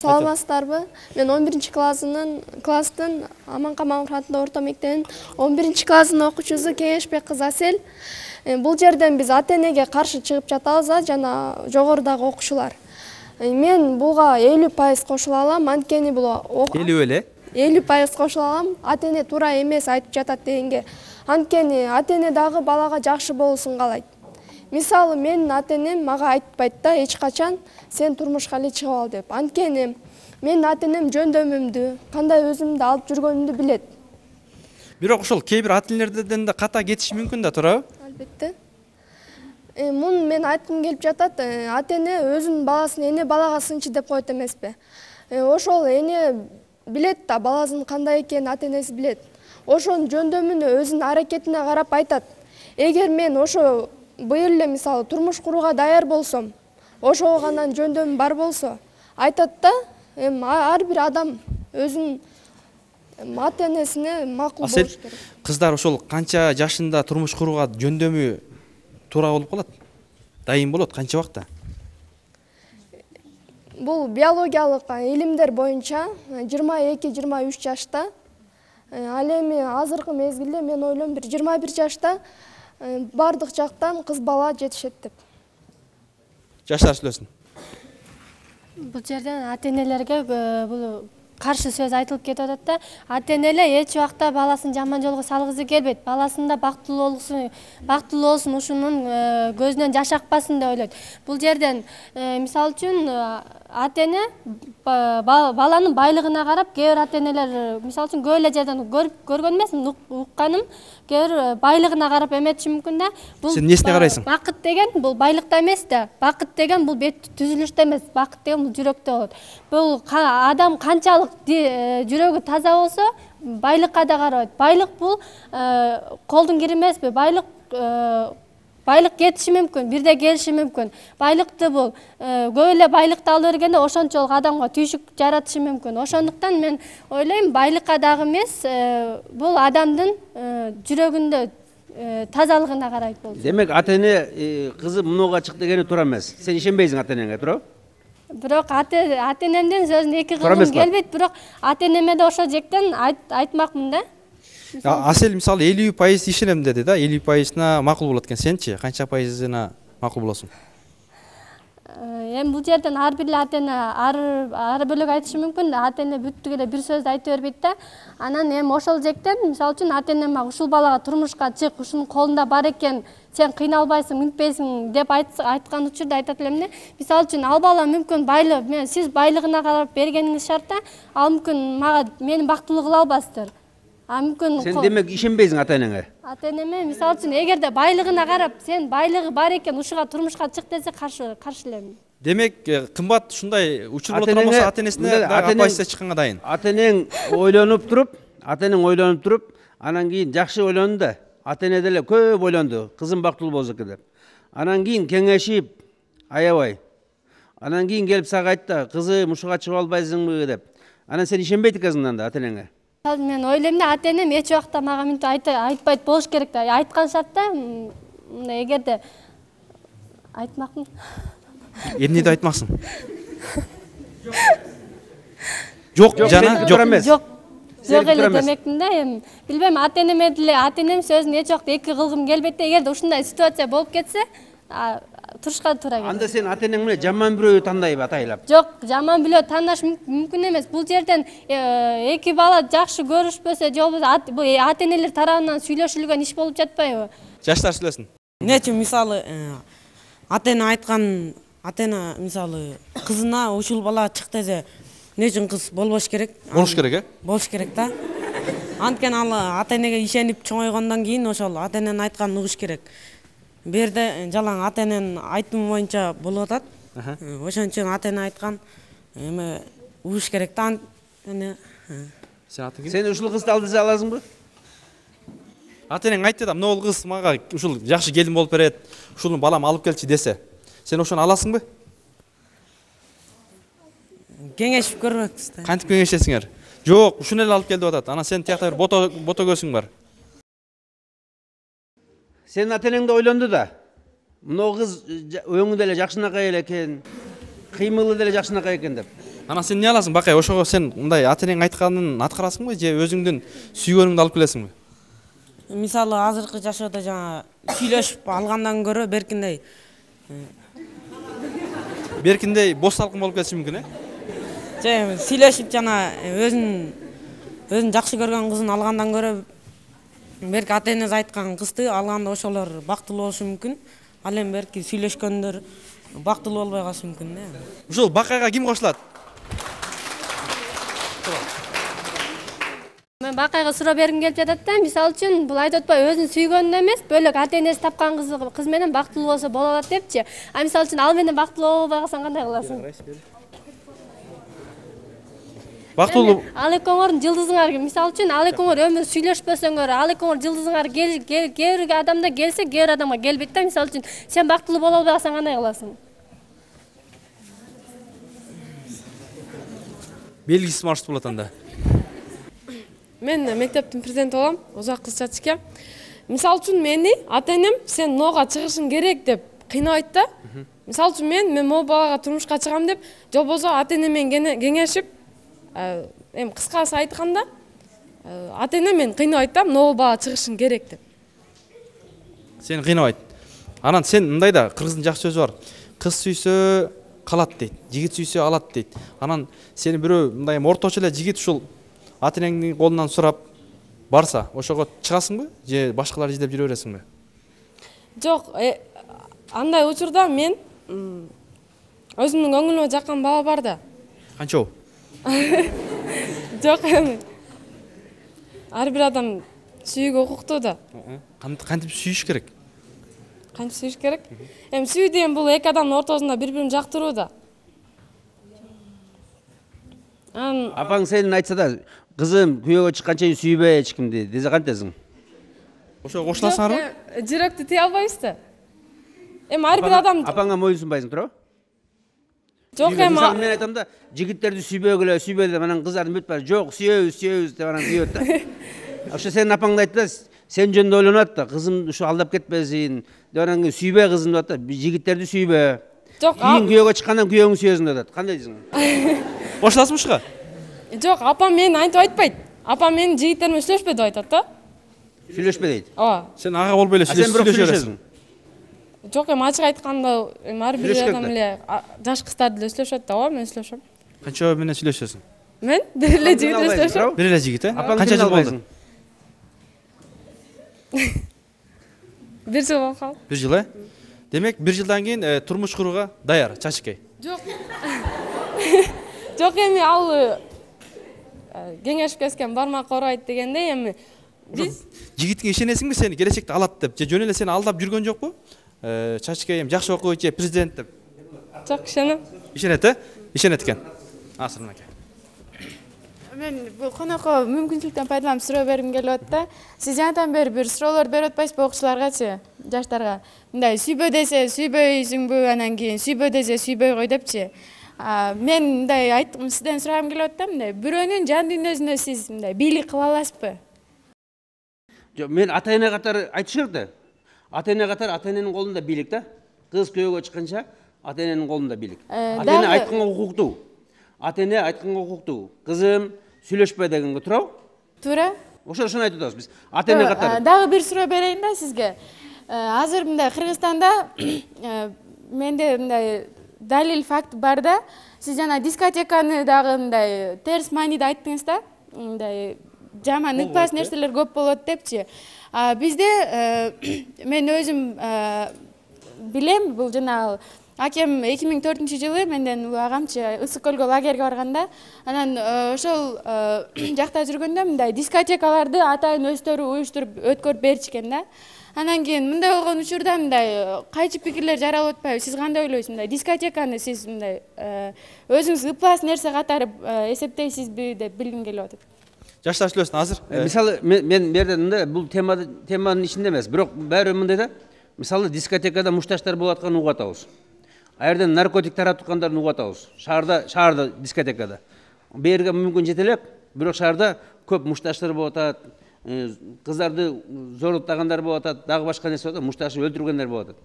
Саламатсыздарбы? Мен 11 класстын Аманка Мамыров атындагы орто мектебинин 11 класстын окуучусу Кеңешбек кызы Асел. Бул жерден биз ата-энеге каршы чыгып жатабыз, жана жогорудагы окуучулар. Мен буга 50% кошула алам, анткени бул 50% кошула алам. Ата-эне туура эмес айтып жатат дегенге. Анткени ата-эне дагы балага жакшы болуусун каалайт. Мисалы, менин ата-энем мага айтпайт да эч качан сен турмушка эле чыгып ал деп. Анткени менин ата-энем жөндөмүмдү, кандай өзүмдү алып жүргөнүмдү билет. Бирок ошол кээ бир ата-энелерден да ката кетиши мүмкүн да, туурабы? Албетте. Муну мен айткым келип жатат, ата-эне өзүнүн баласын эне балага сынчы деп койот эмеспи. Ошол эне билет да баласынын кандай экенин ата-энеси билет. Ошонун жөндөмүнө, өзүнүн аракетине карап айтат. Эгер мен ошо быйыл эле мисалы турмуш курууга даяр болсом, ошого гана жөндөмүм бар болсо, айтат да, ар бир адам өзүнүн ата-энесине макул болуш керек. Кыздар ошол канча жашында турмуш курууга жөндөмү туура болуп калат? Дайым болот канча убакта? Бул биологиялык илимдер боюнча 22-23 жашта. Ал эми азыркы мезгилде мен ойлойм бир 21 жашта бардык жактан кыз бала жетишет деп. Жаштар сүйлөсүн. Бул жерден ата-энелерге бул каршы сөз айтылып кетип атат да. Ата-энелер эч убакта баласын жаман жолго салгысы келбейт. Баласында бактылуу болсун, ушунун көзүнөн жаш акпасын деп ойлойт. Бул жерден мисалы үчүн ата эне баланын байлыгына карап, кээ бир ата энелер мисалы үчүн көп эле жерден көргөн эмесмин, укканым, кээ бир байлыгына карап эметиши мүмкүн да. Сен несине карайсың? Бакыт деген бул байлыкта эмес да. Бакыт деген бул бет түзүлүштө эмес, бакыт деген бул жүрөктө болот. Бул адам канчалык жүрөгү таза болсо, байлыкка да карабайт. Байлык бул колдун кири эмеспи? Байлык кетиши мүмкүн, бирде келиши мүмкүн. Байлыкты бул көп эле байлыкты алып бергенде ошончолук адамга түйшүк жаратышы мүмкүн. Ошондуктан мен ойлойм, байлыкка дагы эмес, бул адамдын жүрөгүндө тазалыгына карайт болчу. Демек ата эне кызы мынуга чык дегени туура эмес. Сен ишенбейсиң ата энеңе, туурабы? Бирок ата энемдин сөзүн эки кылгым келбейт, бирок ата энеме да ошо жектен айтмакмын да. Асел мисалы 50% ишенем деди да, 50%на макул болот экен. Сенчи канча пайызына макул болосуң? Эми бул жерден ар бир ата эне ар бөлөк айтышы мүмкүн да. Ата эне бүттүк эле бир сөздү айта бербейт да. Анан эми ошол жектен мисалы үчүн ата энеме ушул балага турмушка чык, ушунун колунда бар экен, сен кыйналбайсың, мүнтпейсиң деп айткан учурда айтат элем да. Мисалы үчүн ал бала мүмкүн сиз байлыгына карап бергениңиз шарт да, ал мүмкүн мени бактылуу кыла албастыр. Сен демек ишенбейсиң ата энеңе? Ата энеме мисалы үчүн эгерде байлыгына карап, сен байлыгы бар экен, ушуга турмушка чык десе каршы элем. Демек кымбат ушундай учур боло турган болсо ата энесине дагы оппозиция чыкканга дайын. Ата энең ойлонуп туруп, анан кийин жакшы ойлонду да. Ата эне деле көп ойлонду, кызым бактылуу болсо экен деп. Анан кийин кеңешип, аябай. Анан кийин келип сага айтты, кызым ушуга чыгып албайсыңбы деп. Анан сен ишенбейт экенсиң анда ата энеңе. Мен ойлойм да, ата энем эч убакта мага мынтип айтпайт болуш керек да. Айткан шартта мындай эгерде айтмакмын. Эмнеди айтмаксың? Жок, жана жок. Жок эле демекмин да, эми билбейм, ата энем сөзүн эч убакта эки кылгым келбейт да. Эгерде ушундай ситуация болуп кетсе, турушка туура келет. Анда сен ата энең менен жаман бирөөгө тандайбы атайлап? Жок, жаман бирөө тандаш мүмкүн эмес. Бул жерден эки бала жакшы көрүшпөсө, же болбосо бул ата энелер тарабынан сүйлөшүлгөн иш болуп жатпайбы? Жаштар сүйлөсүн. Эмне үчүн мисалы ата эне айткан, ата эне мисалы кызына ушул бала чык десе, эмне үчүн кыз болбош керек? Болуш керек, Болуш керек да. Анткени ал ата энеге ишенип чоңойгондон кийин ошол ата эненин айтканын угуш керек. Бу жерде жалаң ата эненин айтымы боюнча болуп атат. Ошон үчүн ата эне айткан эме угуш керек да. Сен ушул кызды алдыра аласыңбы? Ата энең айтты да, мына кыз мага ушул жакшы келин болуп берет, ушуну балам алып келчи десе, сен ошону аласыңбы? Кеңешип көрбөкпүз да. Кантип кеңешесиңер? Жок, ушуну эле алып кел деп атат. Анан сен тиякта бир бото көзүң бар. Сен ата энең да ойлонду да. Мына кыз өңү деле жакшынакай эле экен, кыймылы деле жакшынакай экен деп. Анан сен эмне аласың, Бакай? Ошого сен мындай ата энең айтканын аткарасыңбы, же өзүңдүн сүйгөнүңдү алып келесиңби? Мисалы азыркы жашоодо жаңа сүйлөшүп алгандан көрө Беркиндей бос салкын болуп кетиши мүмкүн, же сүйлөшүп жана өзүн жакшы көргөн кызын алгандан көрө берки ата энеси айткан кызды алганда ошолор бактылуу болушу мүмкүн. Ал эми берки сүйлөшкөндөр бактылуу болбой калышы мүмкүн да. Ушул Бакайга ким кошулат? Мен Бакайга суроо бергим келип жатат да. Мисалы үчүн бул айтып атпайбы, өзүн сүйгөнүнө эмес, бөлөк ата энеси тапкан кыз менен бактылуу болсо боло алат депчи. А мисалы үчүн ал менен бактылуу болбой калсаң кандай кыласың? Бактылуу. Ал экөөңөрдүн жылдызыңар, мисалы үчүн ал экөөңөр өмүр сүйлөшпөсөңөр, ал экөөңөр жылдызыңар кээ бир адамда келсе, кээ бир адамга келбейт да. Мисалы үчүн сен бактылуу боло албай калсаң кандай кыласың? Белгисиз маршрут болот анда. Мен мектептин президенти болом, Озак Кызчатчике. Мисалы үчүн мени ата энем сен нога чыгышың керек деп кыйнабайт да. Мисалы үчүн мен могу балага турмушка чыгам деп, же болбосо ата эне менен кеңешип, эми кыскасы айтканда, ата эне мени кыйнабайт да, могу бала чыгышың керек деп. Сени кыйнабайт. Анан сен мындай да, кыргыздын жакшы сөзү бар. Кыз сүйсө калат дейт, жигит сүйсө алат дейт. Анан сени бирөө мындай орточо эле жигит ушул ата энеңдин колунан сурап барса, ошого чыгасыңбы, же башкалар издеп жүрө бересиңби? Жок, андай учурда мен өзүмдүн көңүлүмө жаккан бала бар да. Канчабы? Жок эми. Ар бир адам сүйүүгө укуктуу да. Кантип сүйүш керек? Кантип сүйүш керек? Эми сүйүү деген бул эки адамдын ортосунда бири-бирин жактыруу да. Апаң сенин айтса да, кызым күйөөгө чыкканча чейин сүйбөй эч кимди десе кантесиң? Ошого кошуласыңарбы? Жүрөктү тие албайбыз да. Эми ар бир адам Апаңга моюнсунбайсың, туурабы? жок эми Мисалы мен айтам да, жигиттерди сүйбөгүлө, сүйбөй деп анан кыздардын бүт баары жок, сүйөбүз деп анан сүйөт да. Ошо сенин апаң да айтты да, сен жөнүндө ойлонот да, кызым ушу алдап кетпесин деп анан сүйбөй кызым деп атат да, жигиттерди сүйбө. Жок, кийин күйөөгө чыккандан күйөөңдү сүйөсүң деп атат. Кандай дейсиң? Кошуласызбы ушуга? Жок, апам мени антип айтпайт. Апам менин жигиттериме сүйлөшпө деп айтат да. Сүйлөшпө дейт. Ооба. Сен ага болбой эле сүйлөшөсүң. Жок, эми ачык айтканда ар бир адам эле жаш кыздарды эле сүйлөшөт да, ооба, мен сүйлөшөм. Канча менен сүйлөшөсүң? Мен бир эле жигит эле сүйлөшөм. Бир эле жигит, Канча жыл болду? Бир жыл болуп калды. Бир жыл, Демек, бир жылдан кийин турмуш курууга даяр, чачыкей. Жок. Жок, эми ал кеңешип кеткен бармак оорайт дегендей, эми биз жигитке ишенесиңби сени келечекте алат деп, же жөн эле сени алдап жүргөн жокпу? Чачыкей эми жакшы окуйт же президент деп. Жок, ишенем. Ишенет, Ишенет экен. Асырын аке. Мен бул конокко мүмкүнчүлүктөн пайдаланып суроо бергим келип атат да. Сиз жанатан бери бир суроолор берип атпайсызбы окуучуларгачы, жаштарга? Мындай сүйбө десе сүйбөйсүңбү, анан кийин сүйбө десе сүйбөй кой депчи. Мен мындай айткым, сизден сурагым келип атат да, мындай бирөөнүн жан дүйнөсүнө сиз мындай бийлик кыла аласызбы? Жок, мен ата-эне катары айтыш керек да. Ата-эне катары ата-эненин колунда бийлик да. Кыз күйөөгө чыкканча ата-эненин колунда бийлик. Ата-эне айтканга укуктуу. Ата-эне айтканга укуктуу. Кызым, сүйлөшпө дегенге туурабы? Туура. Ошону айтып атабыз биз. Ата-эне катары. Дагы бир суроо берейин да сизге. Азыр мындай Кыргызстанда менде мындай далил факт бар да. Сиз жана дискотеканы дагы мындай терс мааниде айттыңыз да. Мындай жаман ыкпас нерселер көп болот депчи. Бизде мен өзүм билем, бул жана акем 2004-жылы менден агамчы Ысык көлгө лагерге барганда, анан ошол жакта жүргөндө мындай дискотекаларды атайын өздөрү уюштуруп өткөрүп беришкен да. Анан кийин мындай болгон учурда мындай кайчы пикирлер жаралып атпайбы? Сиз кандай ойлойсуз? Мындай дискотеканы сиз мындай өзүңүз ыкпас нерсе катары эсептейсизби деп билгим келип атат. Жаштар сүйлөсүн азыр. Мисалы мен бердимде бул теманын ичинде эмес, бирок баары мындай да. Мисалы дискотекада мушташтар болуп атканын угуп атабыз. Аерден наркотик таратып угуп атабыз. Шаарда дискотекада. Берге мүмкүн жете элек, бирок шаарда көп мушташтар болуп атат. Кыздарды зорлуктагандар болуп атат, дагы башка нерсе болуп атат, мушташып өлтүргөндөр болуп атат.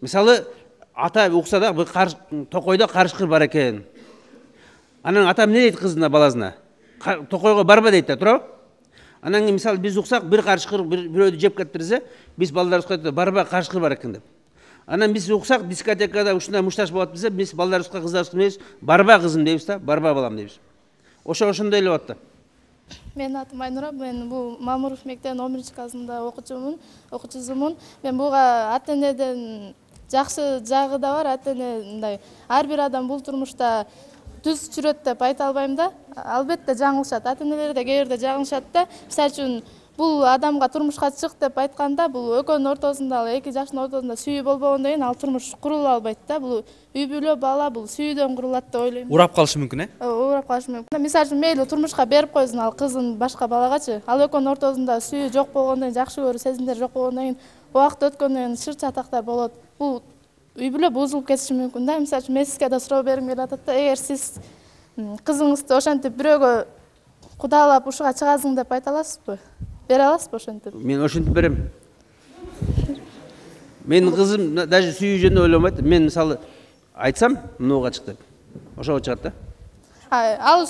Мисалы ата укса да, токойдо карышкыр бар экен. Анан ата эмне дейт кызына, баласына? Токойго барба дейт да, туурабы? Анан кийин мисалы биз уксак, бир карышкыр бирөөдү жеп кетирсе, биз балдарыбызга айтат, барба карышкыр бар экен деп. Анан биз уксак, дискотекада ушундай мушташ болот десе, биз балдарыбызга, кыздарыбызга дейбиз, барба кызым дейбиз да, барба балам дейбиз. Ошондой эле болот да. Менин атым Айнура, мен бул Мамуров мектебинин 11-классында окуучусумун. Мен буга ата-энеден жакшы жагы да бар, ата-эне мындай ар бир адам бул турмушта түз жүрөт деп айта албайм да. Албетте жаңылышат, ата-энелер да кээ бирде жаңылышат да. Мисалы үчүн бул адамга турмушка чык деп айтканда, бул экөөнүн ортосунда, эки жаштын ортосунда сүйүү болбогондон кийин ал турмуш курула албайт да. Бул үй бүлө, бала бул сүйүүдөн курулат деп ойлойм. Урап калышы мүмкүн, Урап калышы мүмкүн. Мисалы үчүн мейли турмушка берип койсун ал кызын башка балагачы. Ал экөөнүн ортосунда сүйүү жок болгондон кийин, жакшы көрүү сезимдер жок болгондон кийин, убакыт өткөндөн кийин шыр чатактар болот. Бул үй бүлө бузулуп кетиши мүмкүн да. Мисалы үчүн мен сизге да суроо бергим келип атат да. Эгер сиз кызыңызды ошентип бирөөгө кудалап ушуга чыгасың деп айта аласызбы? Бере аласызбы ошентип? Мен ошентип берем. Менин кызым даже сүйүү жөнүндө ойлонбойт. Мен мисалы айтсам, мынуга чык деп. Ошого чыгат да. Ал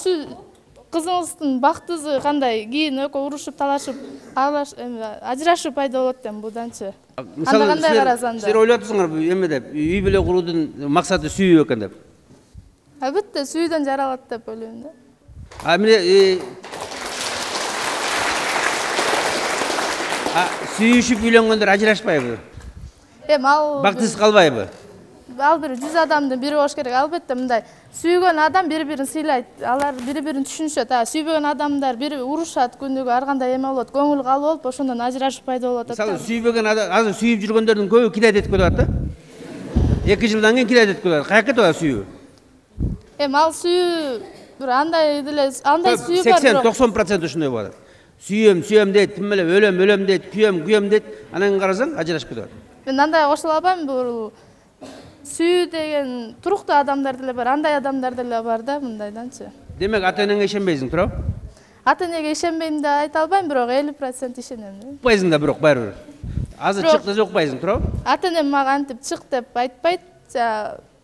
кызыңыздын бактысы кандай? Кийин экөө урушуп, талашып, ажырашуу пайда болот эми буданчы. Кандай карасаңдар? Силер ойлоп атасыңарбы эме деп, үй бүлө куруудун максаты сүйүү экен деп? Албетте сүйүүдөн жаралат деп ойлойм да. Эмне сүйүшүп үйлөнгөндөр ажырашпайбы? Ал Бактысыз калбайбы? ал бир 100 адамдын бири болуш керек. Албетте мындай сүйгөн адам бири-бирин сыйлайт. Алар бири-бирин түшүнүшөт. Сүйбөгөн адамдар бири урушат, күндүгү ар кандай эме болот, көңүл калып болуп, ошондон ажырашып пайда болуп атат. Мисалы сүйбөгөн адам азыр сүйүп жүргөндөрдүн көбү кидайт этип кетип атат да. 2 жылдан кийин кидайт этип кетип атат. Каяка кетип атат сүйүү? Ал сүйүү бир андай сүйүү бар. 80-90% ушундай болот. Сүйөм дейт, тим эле өлөм дейт, күйөм дейт. Анан карасаң ажырашып кетип атат. Мен андай кошула албайм. Бул сүйүү деген туруктуу адамдар деле бар, андай адамдар деле бар да, мындайданчы. Демек ата-энеңе ишенбейсиң, туурабы? Ата-энеге ишенбейм деп айта албайм, бирок 50% ишенем. Укпайсың да бирок баары бир. Азыр чык десе укпайсың, туурабы? Ата-энем мага антип чык деп айтпайт.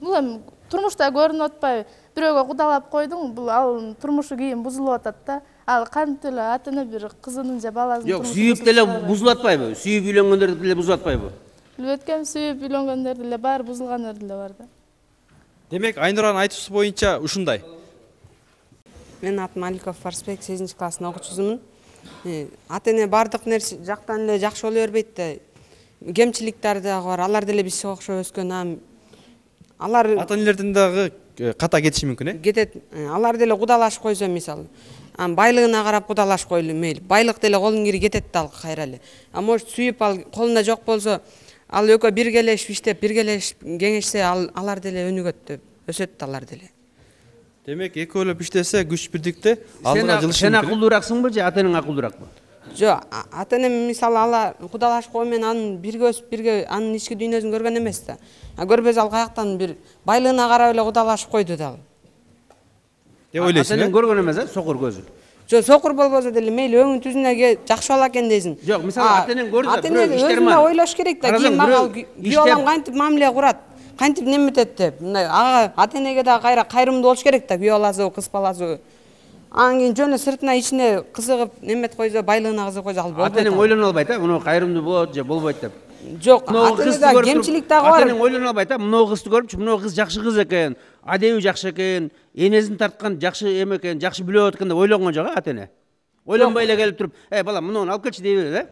Бул эми турмушта көрүнүп атпайбы? Бирөөгө кудалап койдуң, бул ал турмушу кийин бузулуп атат да. Ал кантип эле ата-эне бир кызынын же баласынын турмушу. Жок, сүйүп деле бузулуп атпайбы? Сүйүп үйлөнгөндөр деле бузулуп атпайбы? Билбеткем, сүйүп үйлөнгөндөр деле бар, бузулгандар деле бар да. Демек Айнуранын айтуусу боюнча ушундай. Мен атым Аликов Фарсбек, 8 класстын окуучусумун. Ата-эне бардык нерсе жактан эле жакшы боло бербейт да. Кемчиликтер дагы бар. Алар деле бизге окшоп өскөн. Алар ата-энелердин дагы ката кетиши мүмкүн, кетет. Алар деле кудалашып койсо, мисалы, байлыгына карап кудалашып койлу мейли. Байлык деле колдун кири кетет да кайра эле. Может сүйүп ал колунда жок болсо, ал экөө биргелешип иштеп, биргелешип кеңешсе, алар деле өнүгөт деп өсөт алар деле. Демек экөөлөп иштесе күч бирдикте алдыга жылышы мүмкүн. Сен акылдуураксыңбы же ата-энең акылдуураакпы? Жок, ата-энем мисалы алар кудалашып кою менен анын бирге өсүп, бирге анын ички дүйнөсүн көргөн эмес да. Көрбөсө ал каяктан бир байлыгына карап эле кудалашып койду дагы. Деп ойлойсуң? Ата-энең көргөн эмес, сокур көзү. Жок, сокур болбосо деле мейли өңүн түзүнө жакшы боло экен дейсиң. Жок, мисалы ата-энең көрдү да, бирөө иштерман. Ата-эне ойлош керек да, кийин мага күйөө балам кантип мамиле курат, кантип неметет деп. Мындай ага ата-энеге да кайра кайрымдуу болуш керек да, күйөө баласы, кыз баласы. Анан кийин жөн сыртына ичине кызыгып немет койсо, байлыгына кызыгып койсо ал болбойт. Ата-энең ойлоно албайт, муну кайрымдуу болот же болбойт деп. Жок, ата-энеде кемчилик дагы бар. Ата-энең ойлоно албайт, муну кызды көрүпчү, муну кыз жакшы кыз экен, адеби жакшы экен, энесин тарткан жакшы эме экен, жакшы билип экен деп ойлонгон жок ата-эне. Ойлонбой эле келип туруп, балам, муну алып келчи дей берет,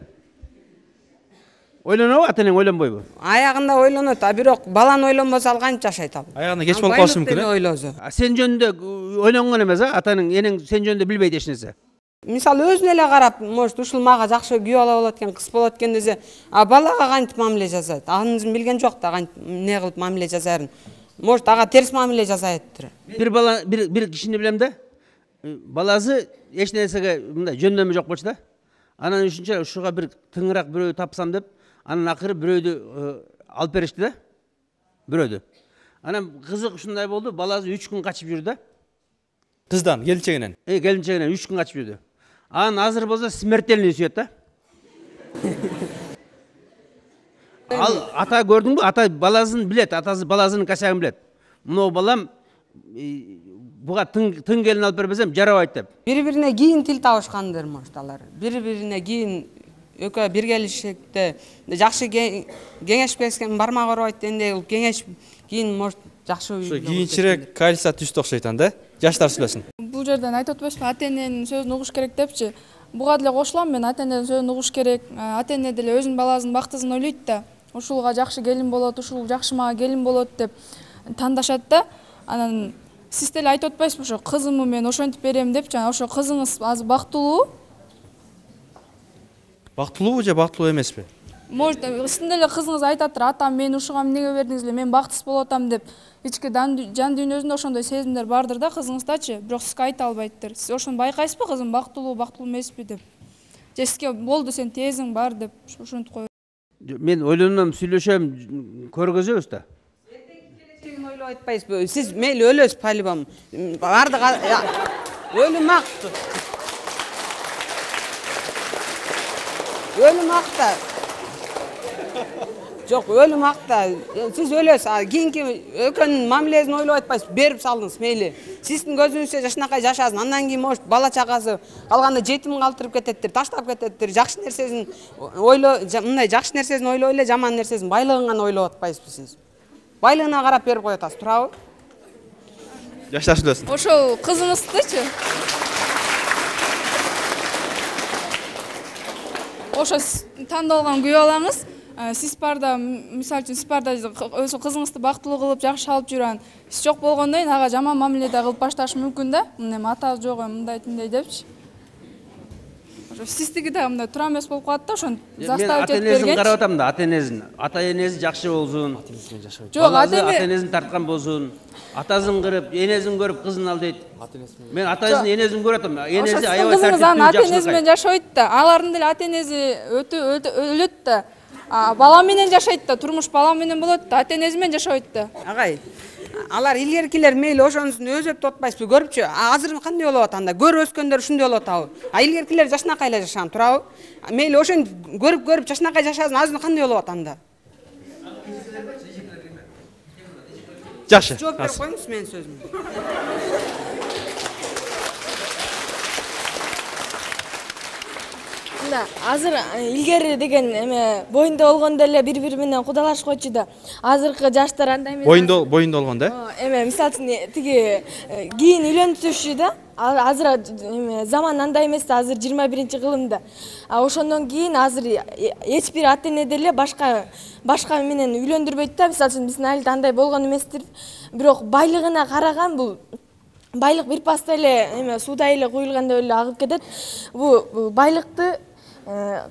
Ойлонобу, ата-энең ойлонбойбу? Аягында ойлонот, бирок баланы ойлонбосо ал кантип жашайт ал? Аягында кеч болуп калышы мүмкүн, ойлосо. Сен жөнүндө ойлонгон эмес, атаның, энең сен жөнүндө билбейт эч нерсе. Мисалы өзүнө эле карап, может, ушул мага жакшы күйөө бала болот экен, кыз болот экен десе, балага кантип мамиле жасайт? Анын билген жок да, кантип эмне кылып мамиле жасаарын. Может, ага терс мамиле жасайттыр. Бир кишини билем да. Баласы эч нерсеге мындай жөндөмү жок болчу да. Анан үчүнчө ушуга бир тыңыраак бирөө тапсам деп, анан акыры бирөөдү алып беришти да. Бирөөдү. Анан кызык ушундай болду, баласы 3 күн качып жүрдү да. Кыздан, келинчегинен. Келинчегинен 3 күн качып жүрдү. Анан азыр болсо смертельный сүйөт да. Ал ата көрдүңбү? Ата баласын билет, атасы баласынын косягын билет. Мына балам буга тың келин алып бербесем жарабайт деп. Бири-бирине кийин тил табышкандыр, может, алар. Бири-бирине кийин экөө биргелишикте жакшы кеңешпескен бармак оройт энде кеңеш кийин может жакшы үй. Кийинчерээк кальса түштү окшойт анда, жаштар сүйлөсүн. Бул жерден айтып атпайсызбы, ата-эненин сөзүн угуш керек депчи. Буга деле кошулам, мен ата-эненин сөзүн угуш керек. Ата-эне деле өзүнүн баласынын бактысын ойлойт да. Ушулга жакшы келин болот, ушул жакшы мага келин болот деп тандашат да. Анан сиз деле айтып атпайсызбы, ошо кызымды мен ошентип берем депчи. Ошо кызыңыз азыр бактылуу? Бактылуубу же бактылуу эмеспи? Может, сиздин деле кызыңыз айтаттыр, атам мен ушуга эмнеге бердиңиз эле, мен бактысыз болуп атам деп. Ички жан дүйнөсүндө ошондой сезимдер бардыр да кызыңыздачы, бирок сизге айта албайттыр. Сиз ошону байкайсызбы, кызым бактылуу эмеспи деп? Же сизге болду, сен тезиң бар деп ошентип коет. Мен ойлонам, сүйлөшөм, көргөзөбүз да. Келечегин ойлоп айтпайсызбы? Сиз мейли өлөсүз по-любому. Бардык өлүм акты. Өлүм акта. Жок, өлүм акта. Сиз өлөсүз. Кийинки экөөнүн мамилесин ойлоп айтпайсыз, берип салдыңыз мейли. Сиздин көзүңүзчө жашынакай жашасын. Андан кийин может бала чагасы калганда жетим калтырып кететтир, таштап кететтир. Жакшы нерсесин мындай жакшы нерсесин ойлой эле, жаман нерсесин байлыгын гана ойлоп атпайсызбы сиз? Байлыгына карап берип коюп атасыз, туурабы? Жаштар сүйлөсүн. Ошол кызыңыздычы? Ошо тандалган күйөө балаңыз сиз барда мисалы үчүн сиз барда өзү кызыңызды бактылуу кылып жакшы алып жүргөн сиз жок болгондон кийин ага жаман мамиле да кылып башташы мүмкүн да. Эми ата жок мындай тиндей депчи. Сиздики да мындай туура эмес болуп калат да, ошону заставить этип бергенчи. Мен карап атам да, ата-энеси жакшы болсун. Жок, ата-энесин тарткан болсун. Атасын кырып, энесин көрүп кызын ал дейт. Мен атасын, энесин көрүп атам. Энеси аябай тартиптүү, жакшы. Ата-энеси менен жашабайт да. Алардын деле ата-энеси өлөт да. Бала менен жашайт да, турмуш бала менен болот да, ата-энеси менен жашабайт да. Агай, алар илгеркилер мейли ошонусун өзөптү атпайсызбы, көрүпчү? Азыр кандай болуп атат анда? Көрүп өскөндөр ушундай болуп атабы? Илгеркилер жашынакай эле жашаган, турабы? Мейли ошону көрүп жашынакай жашасын, азыр кандай болуп атат анда? Жакшы. Жооп берип коюңуз менин сөзүмө. Азыр илгери деген эме боюнда болгондо эле бири-бири менен кудалашкочу да. Азыркы жаштар андай эмес. Боюнда болгондо да? Эме мисалы үчүн тиги кийин үйлөнүшү да. Азыр эме заман андай эмес да, азыр 21-кылымда. Ошондон кийин азыр эч бир ата-эне деле башка менен үйлөндүрбөйт да. Мисалы үчүн биздин айылда андай болгон эместир. Бирок байлыгына караган бул байлык бир паста эле эме сууда эле куюлгандай эле агып кетет. Бул байлыкты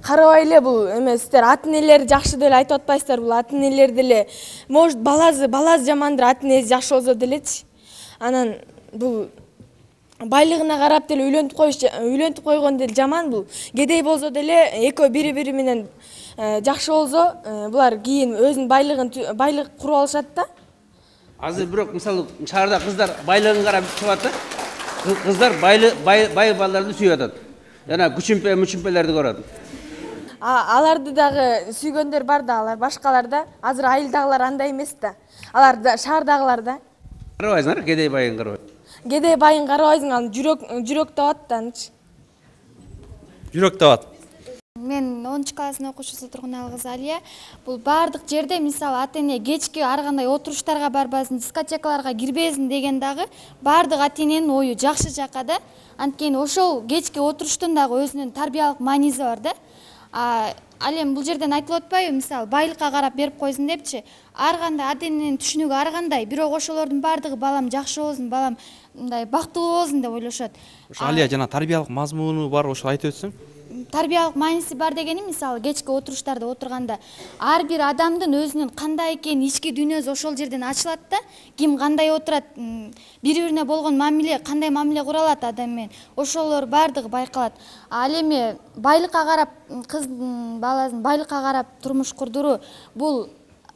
карабай эле бул эме сиздер ата-энелер жакшы деле айтып атпайсыздар, бул ата-энелер деле может баласы жамандыр, ата-энеси жакшы болсо делечи. Анан бул байлыгына карап деле үйлөнтүп койгон деле жаман, бул кедей болсо деле экөө бири-бири менен жакшы болсо булар кийин өзүнүн байлык куруп алышат да. Азыр бирок мисалы шаарда кыздар байлыгын карап чыгат да. Кыздар бай балдарды сүйүп атат. Жана мүчүмпелерди көрөт. Аларды дагы сүйгөндөр бар да, алар башкалар да. Азыр айылдагылар андай эмес да. Алар да шаардагылар да. Карабайсыңар, кедей байын карабайсың. Кедей байын карабайсың, ал жүрөк табат да анчы. Жүрөк табат. Мен 10-класстын окуучусу Тургуналы кызы Алия. Бул бардык жерде мисалы ата-эне кечки ар кандай отуруштарга барбасын, дискотекаларга кирбесин деген дагы бардык ата-эненин ою жакшы жака да. Анткени ошол кечки отуруштун дагы өзүнүн тарбиялык мааниси бар да. Ал эми бул жерден айтылып атпайбы, мисалы байлыкка карап берип койсун депчи. Ар кандай ата-эненин түшүнүгү ар кандай, бирок ошолордун бардыгы балам жакшы болсун, балам мындай бактылуу болсун деп ойлошот. Ошо Алия жана тарбиялык мазмуну бар, ошо айтып өтсөң. Тарбиялык мааниси бар дегени мисалы кечки отуруштарда отурганда ар бир адамдын өзүнүн кандай экени ички дүйнөсү ошол жерден ачылат да. Ким кандай отурат, бири-бирине болгон мамиле, кандай мамиле кура алат адам менен, ошолор бардыгы байкалат. Ал эми байлыкка карап кыздын баласын байлыкка карап турмуш курдуруу, бул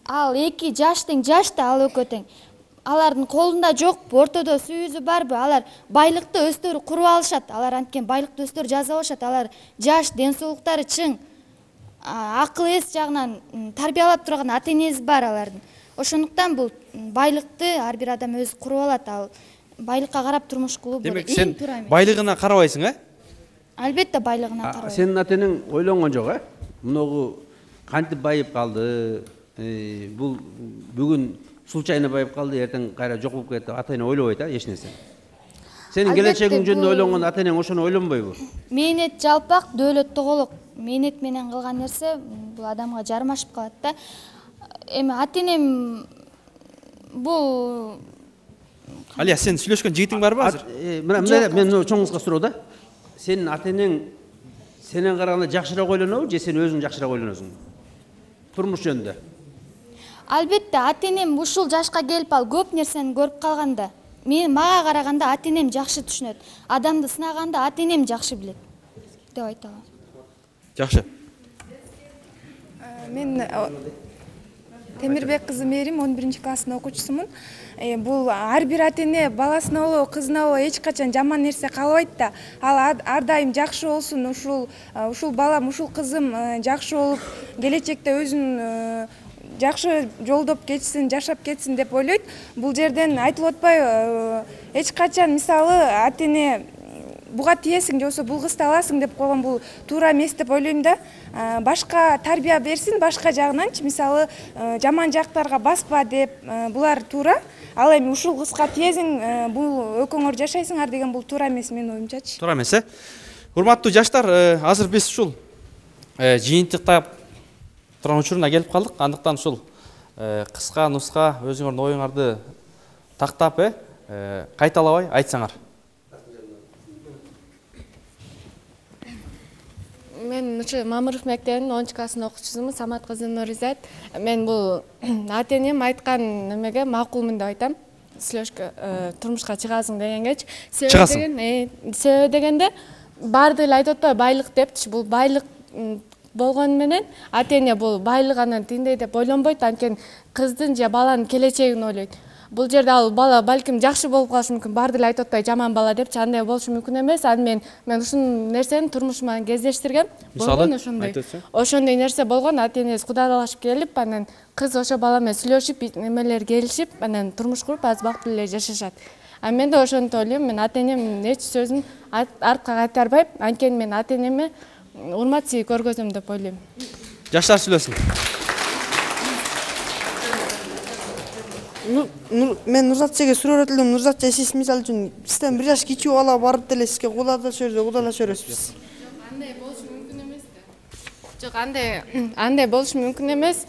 ал 2 жаш тең, жаш да ал экөө тең. Алардын колунда жокпу, ортодо сүйүзү барбы, алар байлыкты өздөрү куруп алышат. Алар анткени байлыкты өздөрү жаза алышат. Алар жаш, ден соолуктары чың, акыл эс жагынан тарбиялап турган ата-энеси бар алардын. Ошондуктан бул байлыкты ар бир адам өзү куруп алат. Ал байлыкка карап турмуш кылуу бул Демек сен байлыгына карабайсың, Албетте байлыгына карабайм. Сенин ата-энең ойлонгон жок, Муногу кантип байып калды? Бул бүгүн случайно байып калды, эртең кайра жок болуп кетти. Ата-эне ойлобойт, эч нерсе. Сенин келечегиң жөнүндө ойлонгон ата-энең ошону ойлонбойбу? Мээнет жалпак, дөөлөт тоголок. Мээнет менен кылган нерсе бул адамга жармашып калат да. Эми ата-энем бул Алия, сен сүйлөшкөн жигитиң барбы азыр? Мен чоң кызга суроо да. Сенин ата-энең сенен караганда жакшыраак ойлонобу же сен өзүң жакшыраак ойлоносуң? Турмуш жөнүндө. Албетте ата-энем ушул жашка келип ал көп нерсени көрүп калганда, мага караганда ата-энем жакшы түшүнөт. Адамды сынаганда ата-энем жакшы билет деп айта алам. Жакшы. Мен Темирбек кызы Мерим 11-класстын окуучусумун. Бул ар бир ата-эне баласына болобу, кызына болобу эч качан жаман нерсе каалабайт да. Ал ар дайым жакшы болсун, ушул балам, ушул кызым жакшы болуп, келечекте өзүн жакшы жолдоп кетсин, жашап кетсин деп ойлойт. Бул жерден айтылып атпайбы, эч качан мисалы ата-эне буга тиесиң же болбосо бул кызды аласың деп койгон бул туура эмес деп ойлойм да. Башка тарбия берсин, башка жагынанчы мисалы жаман жактарга баспа деп булар туура. Ал эми ушул кызга тиесиң, бул экөөңөр жашайсыңар деген бул туура эмес менин оюмчачы. Туура эмес, Урматтуу жаштар, азыр биз ушул жыйынтыктап турган учуруна келип калдык. Андыктан ушул кыска нуска өзүңөрдүн оюңарды тактап кайталабай айтсаңар. Мен ушу Мамыров мектебинин 10 классын окуучусумун, Самат кызы Нуризат. Мен бул ата-энем айткан немеге макулмун деп айтам. Сүйлөшкө турмушка чыгасың дегенгечи. Себеби дегенде баарды эле айтып атпайбы байлык депчи. Бул байлык болгону менен ата-эне бул байлык анан тиндей деп ойлонбойт, анткени кыздын же баланын келечегин ойлойт. Бул жерде ал бала балким жакшы болуп калышы мүмкүн, баарды эле айтып атпай жаман бала депчи, андай болушу мүмкүн эмес. Аны мен ушул нерсени турмушума кездештиргем. Болгон ошондой нерсе болгон, ата-энеси кудайлашып келип, анан кыз ошо бала менен сүйлөшүп, немелер келишип, анан турмуш куруп, аз бактылуу эле жашашат. А мен да ошону ойлойм, мен ата-энемдин эч сөзүн артка кайтарбайм, анткени мен ата-энеме урмат сый көргөзөм деп ойлойм. Жаштар сүйлөсүн. Мен Нурзат эжеге суроо этилдим. Нурзат эже, сиз мисалы үчүн сизден 1 жаш кичүү бала барып деле сизге кудайлаша бересиз. Андай болушу мүмкүн эмес да. Жок, андай болушу мүмкүн эмес.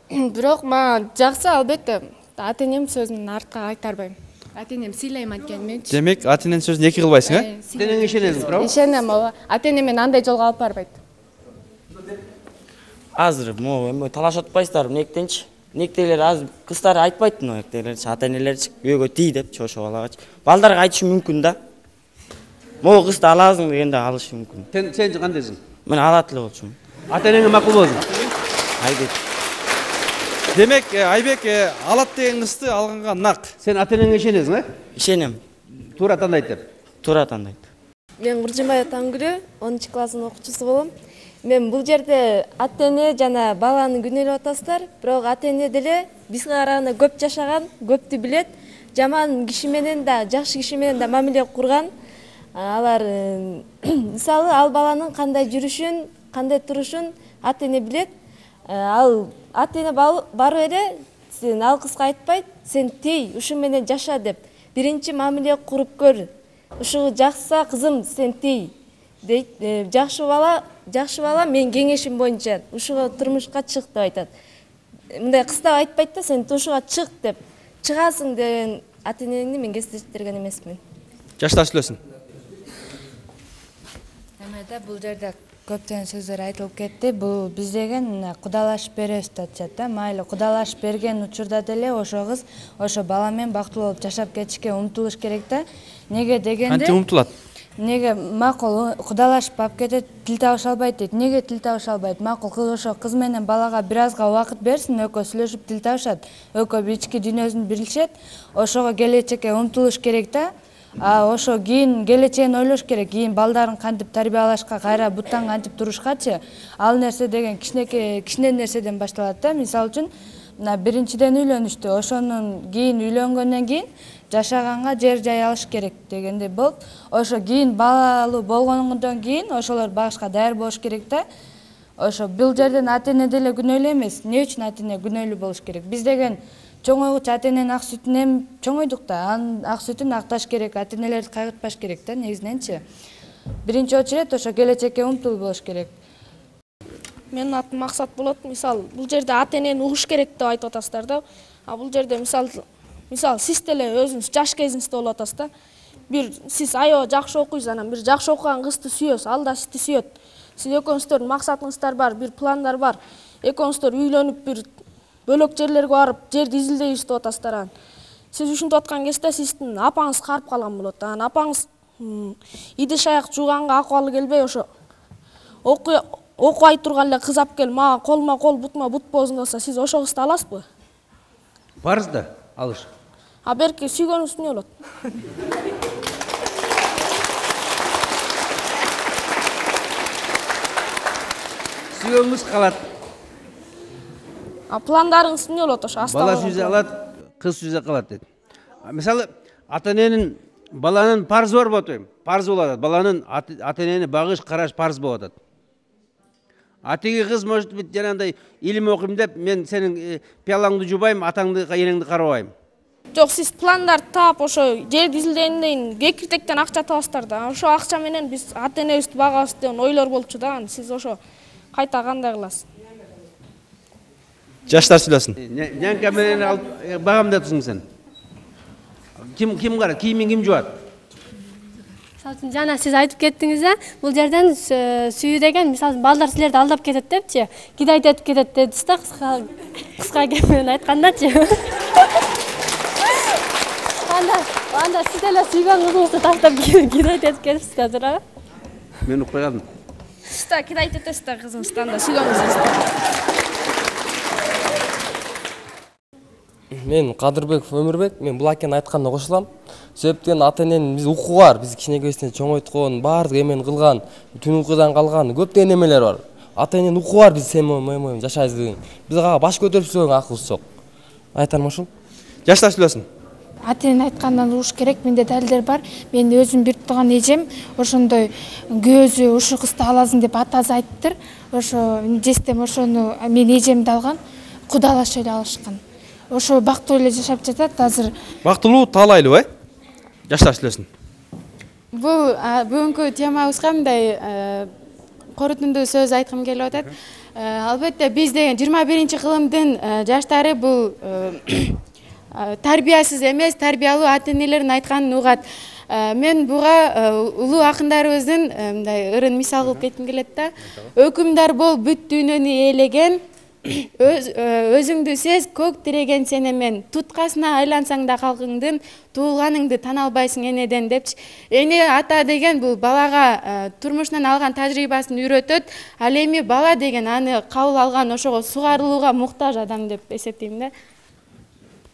Бирок мага жакса, албетте, ата-энем сөзүн артка кайтарбайм. Ата-энем сыйлайм анткени менчи. Демек, ата-эненин сөзүн эки кылбайсың, Ата-энеңе ишенесиң, туурабы? Ишенем, ооба. Ата-энем мени андай жолго алып барбайт. Азыр эми талашып атпайсыздарбы мектенчи? Мектейлер азыр кыздар айтпайт мектейлерчи, ата-энелерчи үйгө тий депчи ошо балагачы. Балдарга айтышы мүмкүн да. Могу кызды аласың дегенде алышы мүмкүн. Сен кандайсың? Мен алат эле болчумун. Ата-энеңе макул болсун. Айбек. Демек, Айбек алат деген кызды алганга нак. Сен ата-энеңе ишенесиң, Ишенем. Туура тандайт деп. Туура тандайт. Мен Куржимбаева Тангүлү, 10 класстын окуучусу болом. Мен бул жерде ата-эне жана баланы күнөөлөп атасыздар, бирок ата-эне деле бизге караганда көп жашаган, көптү билет. Жаман киши менен да, жакшы киши менен да мамиле курган. Алар мисалы ал баланын кандай жүрүшүн, кандай турушун ата-эне билет. Ал ата-эне барып эле сен ал кызга айтпайт, сен тей, ушу менен жаша деп. Биринчи мамиле куруп көр. Ушу жакса кызым сен тей дейт. Жакшы бала мен кеңешим боюнча ушуга турмушка чык деп айтат. Мындай кыздар айтпайт да, сен ушуга чык деп. Чыгасың деген ата-энени мен кездештирген эмесмин. Жаштар сүйлөсүн. Эмеде бул жерде көптөгөн сөздөр айтылып кетти. Бул биз деген кудайлашып беребиз деп атышат да. Майлы кудайлашып берген учурда деле ошо кыз ошо бала менен бактылуу болуп жашап кетишке умтулуш керек да. Неге дегенде Кантип умтулат? Неге макул кудайлашып алып кетет, тил табыша албайт дейт. Неге тил табыша албайт? Макул кыз ошо кыз менен балага бир азга убакыт берсин, экөө сүйлөшүп тил табышат. Экөө ички дүйнөсүн билишет. Ошого келечекке умтулуш керек да. Ошо кийин келечегин ойлош керек. Кийин балдарын кантип тарбиялашка, кайра буттан кантип турушкачы. Ал нерсе деген кичине нерседен башталат да. Мисалы үчүн, биринчиден үйлөнүштү. Ошонун кийин үйлөнгөндөн кийин жашаганга жер жай алыш керек дегенде болуп, ошо кийин балалуу болгондон кийин ошолор багышка даяр болуш керек да. Ошо бул жерден ата-эне деле күнөөлүү эмес. Эмне үчүн ата-эне күнөөлүү болуш керек? Биз деген чоңойгучу ата-эненин ак сүтүнөн чоңойдук да. Анын ак сүтүн акташ керек, ата-энелерди кайгыртпаш керек да негизиненчи. Биринчи очередь ошо келечекке умтулуу болуш керек. Менин атым Максат болот. Мисалы, бул жерде ата-энени угуш керек деп айтып атасыздар да. А бул жерде мисалы сиз деле өзүңүз жаш кезиңизде болуп атасыз да. Бир сиз аябай жакшы окуйсуз, анан бир жакшы окуган кызды сүйөсүз, ал да сизди сүйөт. Сиз экөөңүздөрдүн максатыңыздар бар, бир пландар бар. Экөөңүздөр үйлөнүп бир бөлөк жерлерге барып, жерди изилдейбиз деп атасыздар. Анан сиз ушинтип аткан кезде сиздин апаңыз карып калган болот. Анан апаңыз идиш аяк жууганга акыбалы келбей ошо окубай турган эле кыз алып келип мага колума кол, бутума бут болсун десе, сиз ошо кызды аласызбы? Барсыз да, алыш. А берки сүйгөнүңүз эмне болот? Сүйгөнүңүз калат. А пландарыңыз эмне болот ошо? Бала сүйсө алат, кыз сүйсө калат дейт. Мисалы, ата-эненин баланын парзы бар болот дейм. Парзы болот. Баланын ата-энени багыш, караш парз болот. Атиги кыз может быть жанагындай илим окуйм деп, мен сенин пиялаңды жубайм, атаңды, энеңди карабайм. Жок, сиз пландарды таап ошо жерди изилдегенден кийин кекиртектен акча табасыздар да. Ошо акча менен биз ата-энебизди багабыз деген ойлор болчу да. Сиз ошо кайта кандай кыласыз? Жаштар сүйлөсүн. Нянка менен алып багамдатсың сен. Ким карайт? Кийимин ким жуат? Мисалы үчүн жана сиз айтып кеттиңиз да, бул жерден сүйүү деген мисалы балдар силерди алдап кетет депчи, кидайт этип кетет дедиз да, кыска кеп менен айткандачы. Анда сиз эле сүйгөн кызыңызды таштап кидайт этип кетипсиз да, туурабы? Мен укпай калдым. Сиз да кидайт этесиз да кызыңызды, анда сүйгөн кызыңызды. Мен Кадырбеков Өмүрбек, мен бул акенин айтканына кошулам. Себептен ата-эненин биз укугу бар, биз кичинекейибизден чоңойткон, баардык эмени кылган, түн уйкудан калган көптөгөн эмелер бар. Ата-эненин укугу бар, биз сен моюм жашайбыз деген. Биз ага баш көтөрүп сөйлөгөнгө акыбыз жок. Айтарым ошол. Жаштар сүйлөсүн. Ата-энени айткандан угуш керек, менде далилдер бар. Мен өзүм бир тууган эжем ошондой көзү ушу кызды аласың деп атасы айттыр. Ошо жестем ошону мен эжемди алган, кудалашып эле алышкан. Ошо бактылуу эле жашап жатат азыр. Бактылуу таалайлуу, Жаштар сүйлөсүн. Бул бүгүнкү темабызга мындай корутундуу сөз айткым келип атат. Албетте биз деген 21-кылымдын жаштары бул тарбиясыз эмес, тарбиялуу ата-энелердин айтканын угат. Мен буга улуу акындарыбыздын мындай ырын мисал кылып кетким келет да. Өкүмдар бол бүт дүйнөнү ээлеген, өзүңдү сез көк тиреген сен эмен, туткасына айлансаң да калкыңдын, туулганыңды тана албайсың энеден депчи. Эне ата деген бул балага турмуштан алган тажрыйбасын үйрөтөт, ал эми бала деген аны кабыл алган, ошого сугарылууга муктаж адам деп эсептейм да.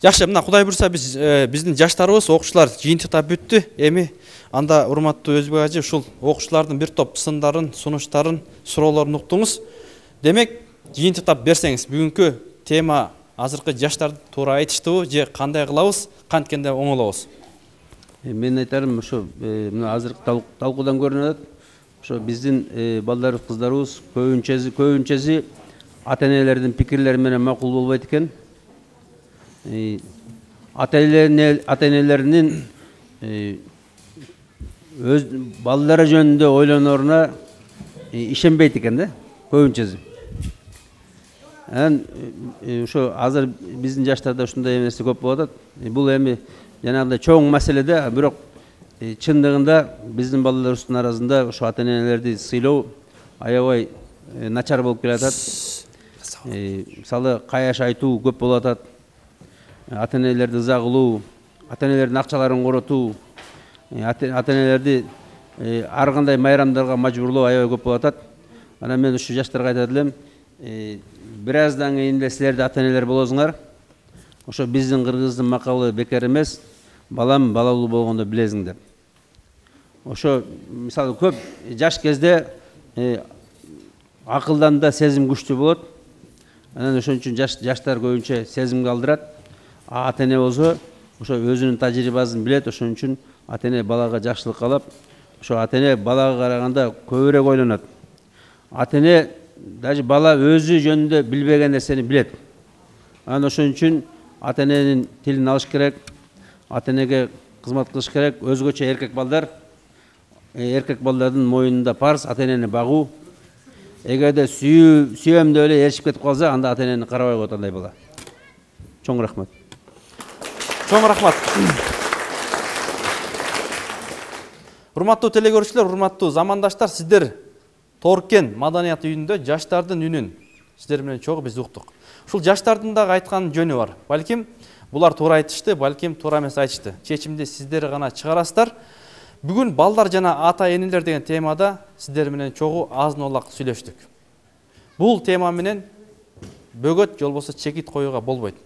Жакшы, мына Кудай буйрса биздин жаштарыбыз окуучулар жыйынтыктап бүттү. Эми анда урматтуу Өзбек ажы ушул окуучулардын бир топ сындарын, сунуштарын, суроолорун уктуңуз. Демек, жыйынтыктап берсеңиз, бүгүнкү тема азыркы жаштарды туура айтыштыбы же кандай кылабыз, канткенде оңолобуз? Мен айтарым, ошо мына азыркы талкуудан көрүнүп атат. Ошо биздин балдарыбыз, кыздарыбыз көбүнчөсү ата-энелердин пикирлери менен макул болбойт экен. Ата-энелеринин өз балдары жөнүндө ойлонооруна ишенбейт экен да, көбүнчөсү. Ошо азыр биздин жаштарда ушундай нерсе көп болуп атат. Бул эми жанагындай чоң маселе да, бирок чындыгында биздин балдарыбыздын арасында ошо ата-энелерди сыйлоо аябай начар болуп келатат. Мисалы, каяш айтуу көп болуп атат. Ата-энелерди ыза кылуу, ата-энелердин акчаларын коротуу, ата-энелерди ар кандай майрамдарга мажбурлоо аябай көп болуп атат. Анан мен ушу жаштарга айтат элем, бир аздан кийин эле силер да ата-энелер болосуңар. Ошо биздин кыргыздын макалы бекер эмес, балам балалуу болгондо билесиң деп. Ошо мисалы көп жаш кезде акылдан да сезим күчтүү болот. Анан ошон үчүн жаштар көбүнчө сезимге алдырат. Ата-эне болсо ошо өзүнүн тажрыйбасын билет, ошон үчүн ата-эне балага жакшылык каалап, ошо ата-эне балага караганда көбүрөөк ойлонот. Ата-эне даже бала өзү жөнүндө билбеген нерсени билет. Анан ошон үчүн ата-эненин тилин алыш керек, ата-энеге кызмат кылыш керек. Өзгөчө эркек балдардын моюнунда парыз ата-энени багуу. Эгерде сүйөм деп эле эришип кетип калса, анда ата-энени карабай коет андай бала. Чоң рахмат. Чоң рахмат. Урматтуу телекөрүүчүлөр, урматтуу замандаштар, сиздер Торкен маданият үйүндө жаштардын үнүн сиздер менен чогуу биз уктук. Ушул жаштардын дагы айткан жөнү бар. Балким булар туура айтышты, балким туура эмес айтышты. Чечимди сиздер гана чыгарасыздар. Бүгүн балдар жана ата-энелер деген темада сиздер менен чогуу азын-олак сүйлөштүк. Бул тема менен бөгөт же болбосо чекит коюуга болбойт.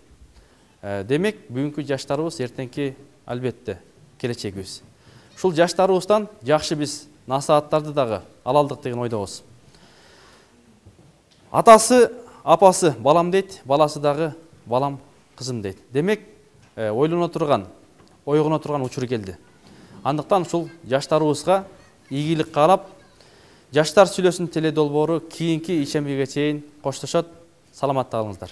Демек, бүгүнкү жаштарыбыз эртеңки албетте келечегибиз. Ушул жаштарыбыздан жакшы биз насааттарды дагы ала алдык деген ойдобуз. Атасы, апасы балам дейт, баласы дагы балам кызым дейт. Демек, ойлоно турган, ойгоно турган учур келди. Андыктан ушул жаштарыбызга ийгилик каалап, жаштар сүйлөсүн теледолбоору кийинки ишембиге чейин коштошот. Саламатта калыңыздар.